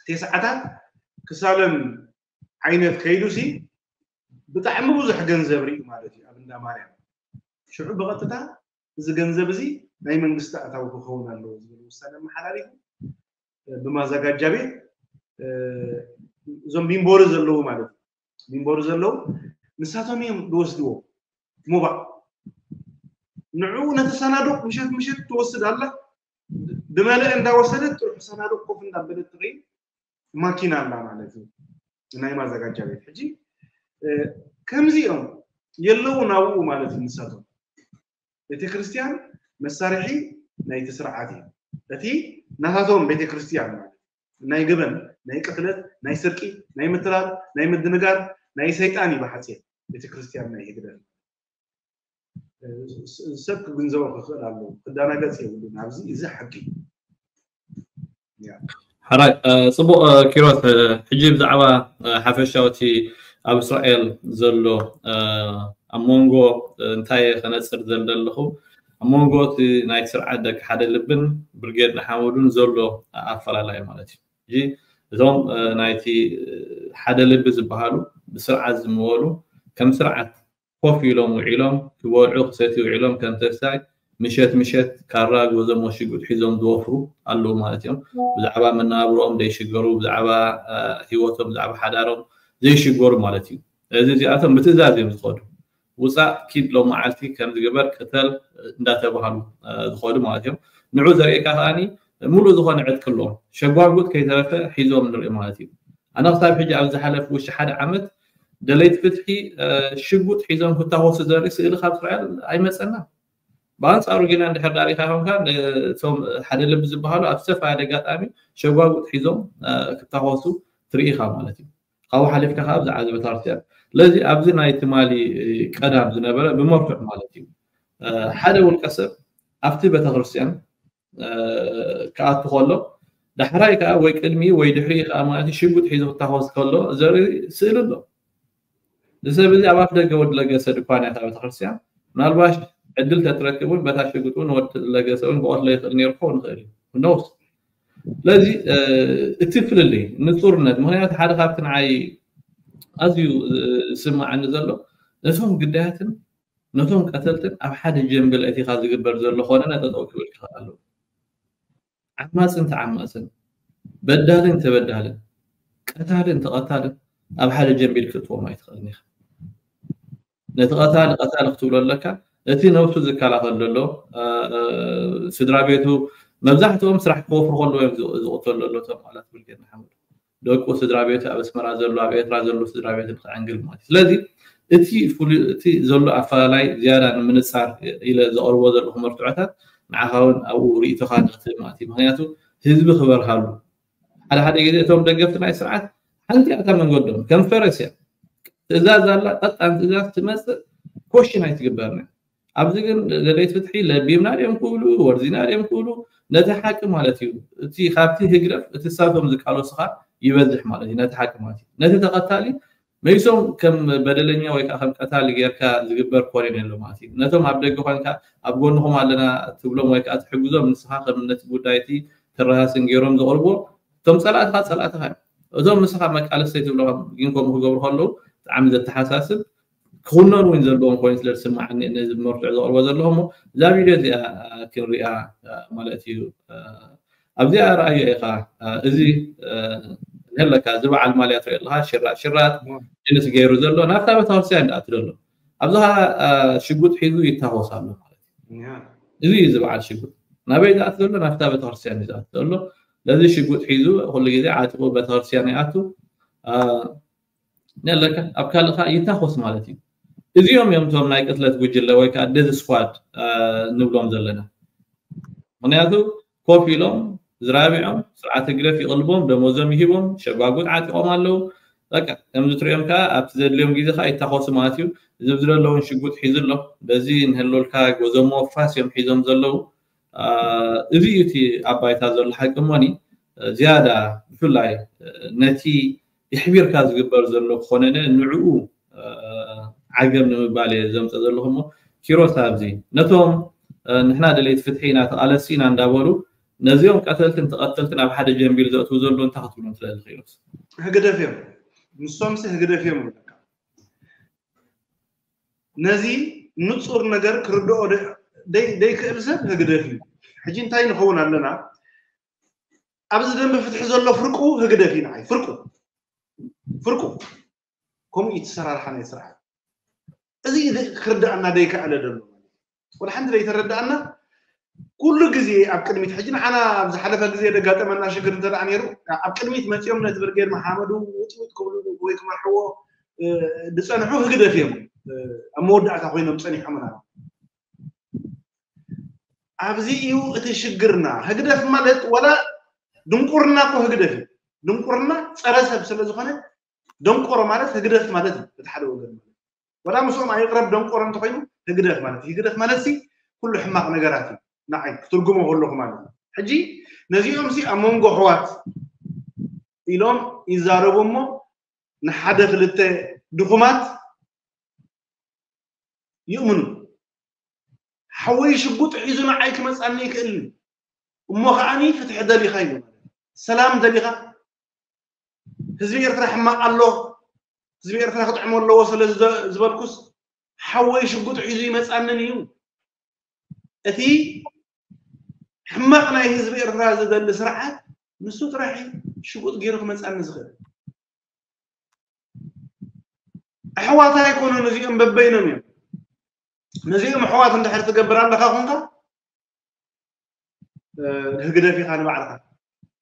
ቴስዓታት ክሳለም ዓይነት ከይዱ ሲ ብጣዕሚ ብዙሕ ገንዘብ ርኢ ማለት እዩ ኣብ እንዳ ማርያም። ሽዑ ብቐጥታ እዚ ገንዘብ እዚ ናይ መንግስቲ ኣታዊ ክኸውን ኣለዎ ዝብል ውሳነ ኣመሓላሊፉ ብማዘጋጃ ቤት እዞም ቢምቦሪ ዘለዉ ማለት እዩ። ቢምቦሪ ዘለዉ ንሳቶም እዮም ዝወስድዎ። ሙባእ ንዕኡ ነቲ ሰናዱቕ ምሸት ምሸት ትወስድ ኣላ። ብመለአ እንዳወሰደት ጥሩሕ ሰናዱቕ ኮፍ እንዳበለት ትኸይድ ማኪና ኣላ ማለት እዩ። ናይ ማዘጋጃ ቤት ሕጂ ከምዚኦም የለውን ኣብኡ ማለት እዩ። ንሳቶም ቤተክርስትያን መሳርሒ ናይቲ ስርዓት እዩ። እቲ ናታቶም ቤተክርስትያን ማለት ናይ ገበን፣ ናይ ቅትለት፣ ናይ ስርቂ፣ ናይ ምትላል፣ ናይ ምድንጋር ናይ ሰይጣን እዩ ብሓፂር ቤተክርስትያን ናይ ህግደፍ። ሰብ ክግንዘቦ ክኽእል ኣለዎ። ክደናገፅ የብሉን። ኣብዚ እዚ ሓቂ ሓራይ ጽቡቕ ኪሮስ፣ ሕጂ ብዛዕባ ሓፈሻዊ እቲ ኣብ እስራኤል ዘሎ ኣብ መንጎ እንታይ ከነጽር ዘለ ኣለኹ ኣብ መንጎ እቲ ናይ ስርዓት ደቂ ሓደ ልብን ብርጌድ ንሓመዱን ዘሎ ኣፈላላይ ማለት እዩ። ሕጂ እዞም ናይቲ ሓደ ልቢ ዝበሃሉ ብስርዓት ዝምወሉ ከም ስርዓት ኮፍ ኢሎም ውዒሎም ክበልዑ ክሰትዩ ውዒሎም ከም ተስታይ ምሸት ምሸት ካራ ጎዞም ሽጉጥ ሒዞም ዝወፍሩ ኣለዉ ማለት እዮም። ብዛዕባ መነባብሮኦም ዘይሽገሩ፣ ብዛዕባ ህይወቶም፣ ብዛዕባ ሓዳሮም ዘይሽገሩ ማለት እዩ። እዚ እዚኣቶም ብትእዛዝ እዮም ዝኸዱ። ውፃእ ኪድ ሎም መዓልቲ ከም ዝግበር ቅተል እንዳተባሃሉ ዝኸዱ ማለት እዮም። ንዑ ዘርእየካ ከዓኒ ሙሉእ ዝኾነ ዕጥቂ ኣለዎም። ሸጓጉጥ ከይተረፈ ሒዞም ንርኢ ማለት እዩ። ኣነ ክሳብ ሕጂ ኣብ ዝሓለፍ ውሽጢ ሓደ ዓመት ደለይቲ ፍትሒ ሽጉጥ ሒዞም ክታወሱ ዘርኢ ስእሊ ካብ እስራኤል ኣይመፀና። ብኣንፃሩ ግና እንድሕር ዳሪካ ኮንካ እቶም ሓደ ልቢ ዝበሃሉ ኣብ ዝተፈላለየ ኣጋጣሚ ሸጓጉጥ ሒዞም ክታወሱ ትርኢኻ ማለት እዩ። ካብኡ ሓሊፍካ ከዓ ብዛዕባ ቤተክርስትያን ስለዚ ኣብዚ ናይ ትማሊ ቀዳም ዝነበረ ብመርትዕ ማለት እዩ ሓደ ውልቀ ሰብ ኣብቲ ቤተክርስትያን ክኣቱ ከሎ ዳሕራይ ከዓ ወይ ቅድሚ ወይ ድሕሪ ከዓ ማለት ሽጉጥ ሒዙ ክታኮስ ከሎ ዘርኢ ስእሊ ኣሎ። እዚ ሰብ እዚ ኣብ ኣፍ ደገ ወዲ ለገሰ ድኳን እያ ቤተክርስትያን። ምናልባሽ ዕድል ተትረክብ እውን በታ ሽጉጥ እውን ወዲ ለገሰ እውን ክቐትሎ ይኽእል ነይሩ ክኸውን ይኽእል እዩ። ነውስ ስለዚ እቲ ፍልልይ ንፁርነት ምክንያቱ ሓደ ካብቲ ንዓይ ኣዝዩ ዝስማዓኒ ዘሎ ነቶም ግዳያትን ነቶም ቀተልትን ኣብ ሓደ ጀምብል እቲኻ ዝግበር ዘሎ ኮነ ጠጠው ክብል ክኽእል ኣለዎ። ዓማፅን ተዓማፅን በዳልን ተበዳልን ቀታልን ተቐታልን ኣብ ሓደ ጀምቢል ክትእትዎም ኣይትኽእልን ኢኻ። ነቲ ቀታሊ ቀታሊ ክትብሎ ኣለካ። እቲ ነብሱ ዝከላኸል ዘሎ ስድራ ቤቱ መብዛሕትኦም ስራሕ ክወፍሩ ከለዉ እዮም ዝቕተሉ ዘሎ እቶም ኣላት ብልጌድ ንሓመዱ። ደቁ ስድራ ቤቱ ኣብ ኣስመራ ዘሎ ኣብ ኤርትራ ዘሎ ስድራ ቤቱ ንክዕንግል ማለት እዩ። ስለዚ እቲ ፍሉይ እቲ ዘሎ ኣፈላላይ ዝያዳ ንምንፃር ኢለ ዘቕርቦ ዘለኹ መርትዖታት ንዓኻ እውን ኣብኡ ርኢቶኻ ንክትህብ ማለት እዩ። ምክንያቱ ህዝቢ ክበርሃሉ ሓደ ሓደ ግዜ እቶም ደገፍቲ ናይ ስርዓት ሓንቲ እታ መንገዶም ከም ፈረስ እያ ትእዛዝ ኣላ ቀጣን ትእዛዝ ትመፅእ ኮሽን ኣይትግበርና። ኣብዚ ግን ደለይቲ ፍትሒ ለቢምና ድዮም ክብሉ ወርዚና ድዮም ክብሉ ነቲ ሓቂ ማለት እዩ እቲ ካብቲ ህግደፍ እቲ ሳቶም ዝቃለሱኻ ይበዝሕ ማለት እዩ። ነቲ ሓቂ ማለት እዩ ነቲ ተቐታሊ መይሶም ከም በደለኛ ወይ ከዓ ከም ቀታሊ ጌርካ ዝግበር ኮነ ኣሎ ማለት እዩ። ነቶም ኣብ ደገ ኮንካ ኣብ ጎንኹም ኣለና ትብሎም ወይ ከዓ ትሕግዞም ንስኻ ከም ነቲ ጉዳይቲ ተረሃስን ገይሮም ዘቕርቦ እቶም ፀላእትኻ ፀላእትኻ እዮም። እቶም ንስኻ መቃለስተይ ትብሎም ግን ከምኡ ክገብሩ ከለዉ ብጣዕሚ ዘተሓሳስብ ክኹነኑ እውን ዘለዎም ኮይኑ ስለ ዝስማዓኒ ነዚ መርትዖ ዘቕርቦ ዘለኹ እሞ እዛ ቪድዮ እዚኣ ክንሪኣ ማለት እዩ። ኣብዚኣ ረኣዮ ኢኻ እዚ ኣለካ እዚ በዓል ማልያ ትሪኦ ኣለካ ሽራጥ ሽራጥ ጅንስ ገይሩ ዘሎ ናብታ ቤተክርስትያን ዝኣቱ ዘሎ ኣብዚ ከዓ ሽጉጥ ሒዙ ይታኮስ ኣሎ ማለት እዩ። እዚ እዩ እዚ በዓል ሽጉጥ ናበይ ዝኣቱ ዘሎ ናብታ ቤተክርስትያን እዩ ዝኣቱ ዘሎ። ነዚ ሽጉጥ ሒዙ ኩሉ ግዜ ዓጢቑ ቤተክርስትያን ይኣቱ ኣለካ ኣብ ካልእ ከዓ ይታኮስ ማለት እዩ። እዚኦም እዮም እቶም ናይ ቅትለት ጉጅለ ወይ ከዓ ዴዝ ስኳድ ንብሎም ዘለና። ምክንያቱ ኮፍ ኢሎም ዝራቢዖም ስርዓት ህግደፍ ይቕልቦም ደሞዞም ይሂቦም ሸጓጉጥ ዓጢቖም ኣለዉ። በቃ ከምዚ ትሪኦም ከዓ ኣብቲ ዘድልዮም ግዜ ከዓ ይታኮሱ ማለት እዩ። እዚ ዘለውን ሽጉጥ ሒዙ ኣሎ በዚ ንህለልካ ጎዞሞ ፋስ እዮም ሒዞም ዘለዉ። እዚ እዩ እቲ ኣብ ባይታ ዘሎ ሓቂ እሞኒ ዝያዳ ብፍላይ ነቲ የሕቢርካ ዝግበር ዘሎ ክኾነነ ንዕኡ ዓገብ ንምባል እየ ዘምፀ ዘለኹ። እሞ ኪሮስ፣ ኣብዚ ነቶም ንሕና ደለይቲ ፍትሒ ኢና፣ ተቓለስቲ ኢና እንዳበሉ ነዚኦም ቀተልትን ተቐተልትን ኣብ ሓደ ጀንቢል ዘእትዉ ዘለዉ እንታይ ክትብሎም ትኽእል ኪሮስ? ህግደፍ እዮም። ንሶምሲ ህግደፍ እዮም ይብለካ። ነዚ ንጹር ነገር ክርድኦ ደይክእል ሰብ ህግደፍ እዩ። ሕጂ እንታይ ንኸውን ኣለና? ኣብዚ ደንበ ፍትሒ ዘሎ ፍርቁ ህግደፍ እዩ። ንዓይ ፍርቁ ፍርቁ ከምኡ እዩ ትሰራርሓ ናይ ስርዓት። እዚ ክርዳእና ደይከኣለ ደሎ ወላ ሓንቲ ደይተረዳእና ኩሉ ግዜ ኣብ ቅድሚት ሕጂ ንዓና ኣብ ዝሓለፈ ግዜ ደጋጠመና ሽግር እንተ ደኣ ነይሩ ኣብ ቅድሚት መፂኦም ነቲ ብርጌድ መሓመዱ ውጥውጥ ክብሉ ወይ ክመርሕዎ ዝፀንሑ ህግደፍ እዮም ኣብ መወዳእታ ኮይኖም ፀኒሖምና። ኣብዚ እዩ እቲ ሽግርና። ህግደፍ ማለት ወላ ድንቁርና እኮ ህግደፍ እዩ። ድንቁርና ፀረ ሰብ ስለ ዝኾነ ደንቆሮ ማለት ህግደፍ ማለት እዩ። እቲ ሓደ ወገን ማለት ወላ ምስኦም ኣይቅረብ ደንቆሮ እንተኮይኑ ህግደፍ ማለት እዩ። ህግደፍ ማለት ሲ ኩሉ ሕማቕ ነገራት እዩ። ንዓይ ክትርጉሞ ከለኹ ማለት እዩ። ሕጂ ነዚኦም ሲ ኣብ መንጎ ኣሕዋት ኢሎም ይዛረቡ እሞ ንሓደ ክልተ ድኹማት ይእምኑ። ሓወይ ሽጉጥ ሒዙ ንዓይ ክመፃኒ ይክእልን እሞ ከዓኒ ፍትሒ ደሊኻ እዩ ማለት ሰላም ደሊኻ ህዝቢ ኤርትራ ሕማቕ ኣሎ ህዝቢ ኤርትራ ክጥዕሞ ኣለዎ ስለ ዝበልኩስ ሓወይ ሽጉጥ ሒዙ ይመፃንን እዩ። እቲ ሕማቕ ናይ ህዝቢ ኤርትራ ዝደሊ ስርዓት ንሱ ጥራሕ ሽጉጥ ገይሩ ክመፃኒ ዝኽእል። ኣሕዋት ኣይኮኑን እዚኦም በበይኖም እዮም። ነዚኦም ኣሕዋት እንድሕር ትገብር ኣለኻ ኮንካ ህግደፍ ኢኻ ንባዕልኻ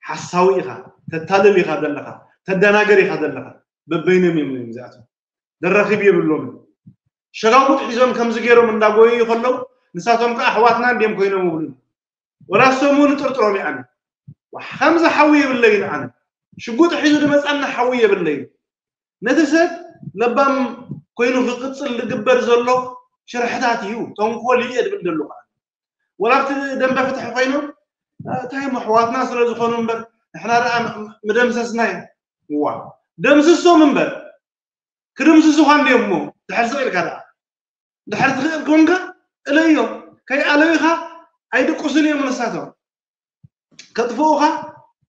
ሓሳዊ ኢኻ ተታልል ኢኻ ዘለኻ ተደናገር ኢኻ ዘለኻ። በበይኖም እዮም እዚኣቶም ደራኺብ የብሎምን። ሸጋጉጥ ሒዞም ከምዚ ገይሮም እንዳጎየዩ ከለዉ ንሳቶም ከዓ ኣሕዋትና እንድዮም ኮይኖም ይብሉና። ወላ እሶም እውን ጥርጥሮም እዩ ኣነ ከምዚ ሓዊ የብለይን ኣነ ሽጉጥ ሒዙ ዝመፃና ሓዊ የብለይን። ነቲ ሰብ ለባም ኮይኑ ክቅፅል ዝግበር ዘሎ ሽርሕታት እዩ ተንኮል እዩ እየ ዝብል ዘለኹ። ወላ ኣብቲ ደንበ ፍትሒ ኮይኖም እንታይ እሞ ኣሕዋትና ስለ ዝኾኑ እምበር ንሕና ደኣ ምደምሰስናዮም። እዋ ደምስሶም እምበር ክድምስሱኻ እንድዮም እሞ ድሕር ስቕ ኢልካ ደኣ ድሕር ትኽእል ኮንካ እለዮም። ከይኣለዩኻ ኣይድቅሱን እዮም ንሳቶም ከጥፍኡኻ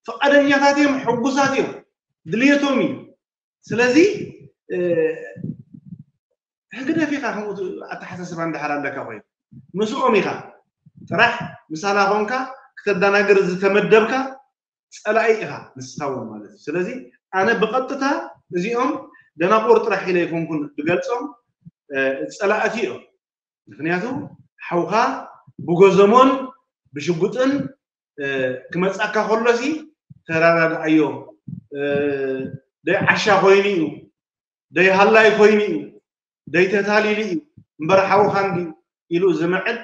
ፍቓደኛታት እዮም ሕጉሳት እዮም ድልየቶም እዩ። ስለዚ ህግደፍ ኢኻ ከምኡ ኣተሓሳስባ እንድሕር ኣለካ ኮይኑ ምስኦም ኢኻ ጥራሕ ምሳና ኮንካ ክተዳናግር ዝተመደብካ ፀላኢ ኢኻ ንስኻ እውን ማለት እዩ። ስለዚ ኣነ ብቐጥታ እዚኦም ደናቁር ጥራሕ ኢለ ኣይኮንኩን ዝገልፆም ፀላእቲ እዮም። ምክንያቱ ሓውኻ ብጎዘሞን ብሽጉጥን ክመፃካ ከሎሲ ተራዳድኣዮ። ደይ ዓሻ ኮይኑ እዩ ደይ ሃላይ ኮይኑ እዩ ደይ ተታሊሉ እዩ እምበር ሓውኻ እንዲ ኢሉ ዝምዕድ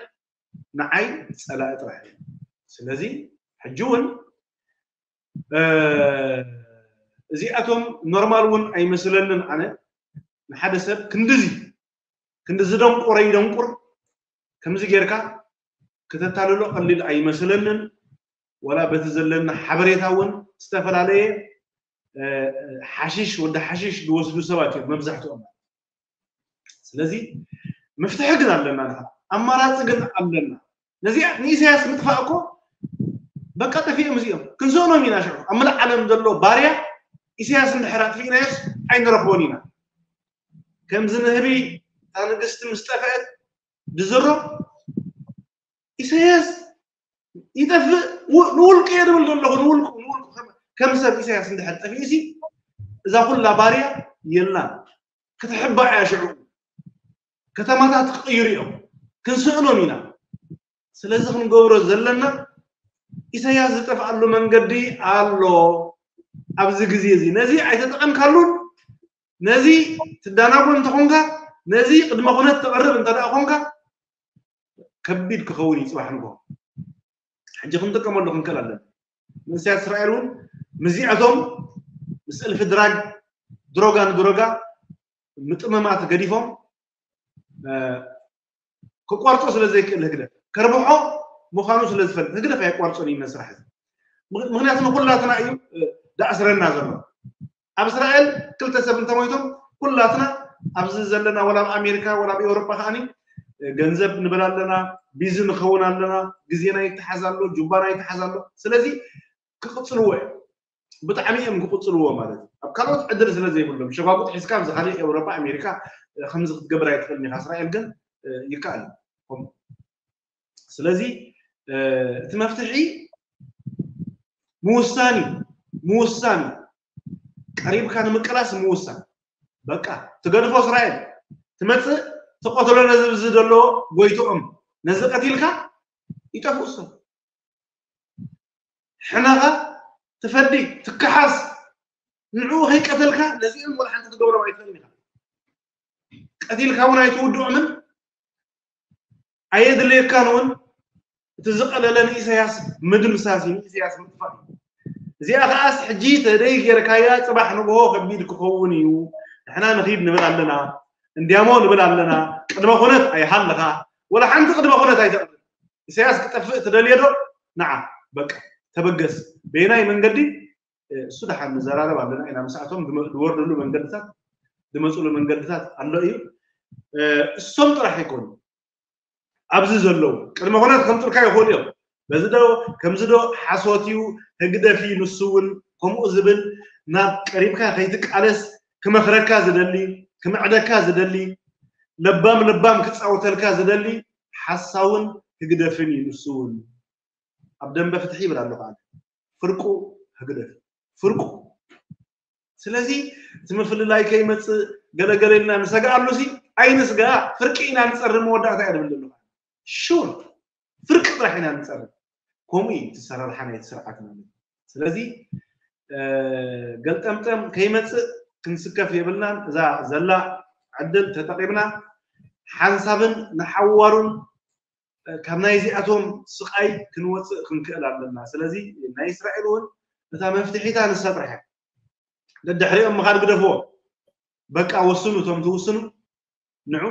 ንዓይ ፀላኢ ጥራሕ እዩ። ስለዚ ሕጂ እውን እዚኣቶም ኖርማል እውን ኣይመስለንን ኣነ ንሓደ ሰብ ክንድዚ ክንዲ ዝደንቁረ ይደንቁር ከምዚ ጌርካ ክተታልሎ ቀሊል ኣይመስለንን። ወላ በቲ ዘለና ሓበሬታ እውን ዝተፈላለየ ሓሽሽ ወዲ ሓሽሽ ዝወስዱ ሰባት እዮም መብዛሕትኦም። ስለዚ መፍትሒ ግን ኣለና፣ ኣማራፂ ግን ኣለና። ነዚኣ ንኢሳያስ ምጥፋእ እኮ በቃ ጠፊኦም እዚኦም ክንስእኖም ኢና። ሽዑ ኣብ መላእ ዓለም ዘሎ ባርያ ኢሳያስ እንድሕር ኣጥፊእናዮስ ኣይንረኽቦን ኢና። ከምዚ ንህቢ እታ ንግስቲ ምስ ጠፍአት ድዝሮ ኢሳያስ ይጠፍእ ንውልቁ እየ ድብል ዘለኹ ንውልቁ ንውልቁ ከም ሰብ ኢሳያስ እንድሕር ጠፊኡሲ እዛ ኩላ ባርያ የላን። ክትሕባእ እያ ሽዑ ከተማታት ክቕይሩ እዮም ክንስእኖም ኢና። ስለዚ ክንገብሮ ዘለና ኢሳያስ ዝጠፍኣሉ መንገዲ ኣሎ። ኣብዚ ግዜ እዚ ነዚ ኣይተጠቐምካሉን ነዚ ትዳናጎ እንተኾንካ ነዚ ቅድመ ኩነት ተቕርብ እንተ ደኣ ኮንካ ከቢድ ክኸውን እዩ ፅባሕ ንጎ ሕጂ ክንጥቀመሉ ክንክእል ኣለና። መንእሰያት እስራኤል እውን ምዚኣቶም ምስ እልፊ ድራግ ድሮጋ ንድሮጋ ምጥምማት ገዲፎም ክቋርጦ ስለ ዘይክእል ህግደፍ ከርብሖ ምዃኑ ስለ ዝፈልጥ ህግደፍ ኣየቋርጾን እዩ መስራሕ እዚ። ምክንያቱ ንኩላትና እዩ ዳእስረና ዘሎ። ኣብ እስራኤል ክልተ ሰብ እንተሞይቶም ኩላትና ኣብዚ ዘለና ወላ ኣብ ኣሜሪካ ወላ ኣብ ኤውሮጳ ከዓኒ ገንዘብ ንብል ኣለና፣ ቢዚ ንኸውን ኣለና፣ ግዜና ይተሓዝ ኣሎ፣ ጁባና ይተሓዝ ኣሎ። ስለዚ ክቕፅልዎ እዮም። ብጣዕሚ እዮም ክቕፅልዎ ማለት እዩ። ኣብ ካልኦት ዕድል ስለ ዘይብሎም ሸጓጉጥ ሒዝካ ኣብዚ ካልእ ኤውሮጳ ኣሜሪካ ከምዚ ክትገብር ኣይትኽእልን ኢኻ። እስራኤል ግን ይከኣል እዩ። ስለዚ እቲ መፍትሒ ምውሳን እዩ። ምውሳን እዩ። ቀሪብካ ንምቅላስ ምውሳን። በቃ ትገድፎ እስራኤል ትመፅእ ትቐትሎ ነዚ ብዚ ዘሎ ጎይትኦም ነዚ ቀቲልካ ይጠፍኡ ሰብ ሕነኻ ትፈዲ ትከሓስ ንዕኡ ከይቀተልካ ነዚኦም ወላ ሓንቲ ትገብሮም ኣይትኽእልን ኢኻ። ቀቲልካ እውን ኣይትውድኦምን ኣየድልየካን እውን እቲ ዝቐለለ ንኢሳያስ ምድምሳስ እዩ፣ ንኢሳያስ ምጥፋእ እዩ። እዚኣ ከዓስ ሕጂ ተደይ ጌርካያ ፅባሕ ንግሆ ከቢድ ክኸውን እዩ። ንሕና ንኺድ ንብል ኣለና፣ እንዲያሞ ንብል ኣለና። ቅድመ ኩነት ኣይሃለኻ ወላ ሓንቲ ቅድመ ኩነት ኣይተቕብል። ኢሳያስ ክጠፍእ ትደልዮ ዶ? ንዓ በቃ ተበገስ። በየናይ መንገዲ እሱ ደሓን ንዘራረብ ኣለና ኢና። ምስኣቶም ዝወርድሉ መንገድታት ዝመፅሉ መንገድታት ኣሎ እዩ። እሶም ጥራሕ ኣይኮኑ ኣብዚ ዘለዉ ቅድመ ኩነት ከምፅልካ ይኽእሉ እዮም። በዚ ዶ ከምዚ ዶ ሓሶት እዩ ህግደፍ እዩ ንሱ እውን ከምኡ ዝብል ናብ ቀሪብካ ከይትቃለስ ክመኽረካ ዝደሊ ክምዕደካ ዝደሊ ለባም ለባም ክፃወተልካ ዝደሊ ሓሳውን ህግደፍን እዩ ንሱ እውን ኣብ ደንበ ፍትሒ ይብል ኣለኹ ኣነ ፍርቁ ህግደፍ ፍርቁ ስለዚ እቲ ምፍልላይ ከይመፅእ ገለገለ ኢልና ንሰግኣሉ ሲ ኣይንስጋ ፍርቂ ኢና ንፀሪ መወዳእታ እያ ድብል ዘለኹ ሹር ፍርቂ ጥራሕ ኢና ንፀሪ ከምኡ እዩ እቲ ሰራርሓ ናይቲ ስርዓት ማለት ስለዚ ገልጠምጠም ከይመፅእ ክንስከፍ የብልናን እዛ ዘላ ዕድል ተጠቂምና ሓንሳብን ንሓዋሩን ካብ ናይዚኣቶም ስቓይ ክንወፅእ ክንክእል ኣለና ስለዚ ናይ እስራኤል እውን እታ መፍትሒታ ንሳ ጥራሕ እያ ደድሕሪኦም ምኻድ ግደፍዎ በቃ ወስኑ እቶም ትውስኑ ንዑ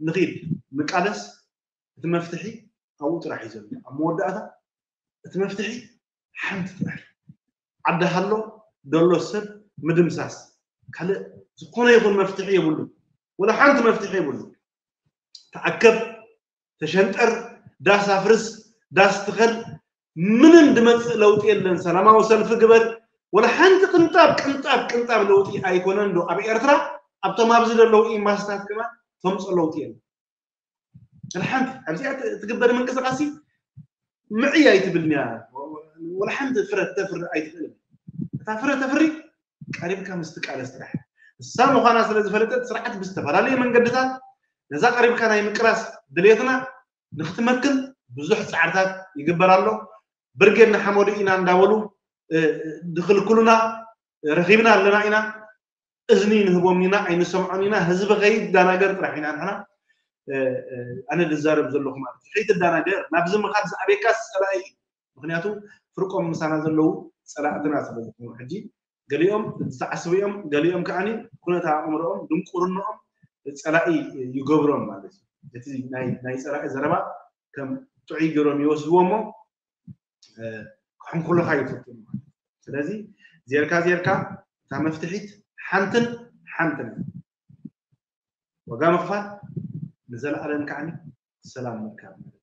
ንኺድ ንቃለስ እቲ መፍትሒ ኣብኡ ጥራሕ እዩ ዘሎ ኣብ መወዳእታ እቲ መፍትሒ ሓንቲ ጥራሕ ዓዲ ሃሎ ደሎ ሰብ ምድምሳስ ካልእ ዝኾነ ይኹን መፍትሒ የብሉ ወላ ሓንቲ መፍትሒ የብሉ ተኣከብ ተሸንጠር ዳስ ኣፍርስ ዳስ ትኸል ምንም ድመፅእ ለውጢ የለን ሰላማዊ ሰልፊ ግበር ወላ ሓንቲ ቅንጣብ ቅንጣብ ቅንጣብ ለውጢ ኣይኮነን ዶ ኣብ ኤርትራ ኣብቶም ኣብዚ ዘለዉ ኢምባስታት ከማን ተምፅኦ ለውጢ የለን ወላ ሓንቲ ኣብዚኣ ትግበር ምንቅስቃሲ ምዕይ ኣይትብልንያ ወላ ሓንቲ ፍረ ተፍሪ ኣይትኽእልን እታ ፍረ ተፍሪ ቀሪብካ ምስ ትቃለስ ጥራሕ እሳ ምዃና ስለ ዝፈለጠት ስርዓት ብዝተፈላለየ መንገድታት ነዛ ቀሪብካ ናይ ምቅላስ ድሌትና ንክትመክን ብዙሕ ፃዕርታት ይግበር ኣሎ ብርጌድ ንሓመዱ ኢና እንዳበሉ ድክልክሉና ረኺብና ኣለና ኢና እዝኒ ንህቦም ኢና ኣይንሰምዖን ኢና ህዝቢ ከይዳናገር ጥራሕ ኢና ንሕና ኣነ ዝዛረብ ዘለኹ ማለት እዩ ከይትዳናገር ናብዚ ምኻድ ዝኣበየካ ፀላኢ እዩ ምክንያቱ ፍርቆም ምሳና ዘለዉ ፀላእትና ስለ ዝኾኑ ሕጂ ገሊኦም ዝዓስቡ እዮም ገሊኦም ከዓ ኩነታ ኣእምሮኦም ድንቁርኖኦም ፀላኢ ይገብሮም ማለት እዩ እቲ ናይ ፀላኢ ዘረባ ከም ጥዑይ ገይሮም ይወስድዎ እሞ ክሕንኩሉኻ ይፍትኑ ማለት እዩ ስለዚ ዜርካ ዜርካ እታ መፍትሒት ሓንትን ሓንትን ዋጋ ምኽፋል ንዘለኣለም ከዓ ሰላም ምርካብ ማለት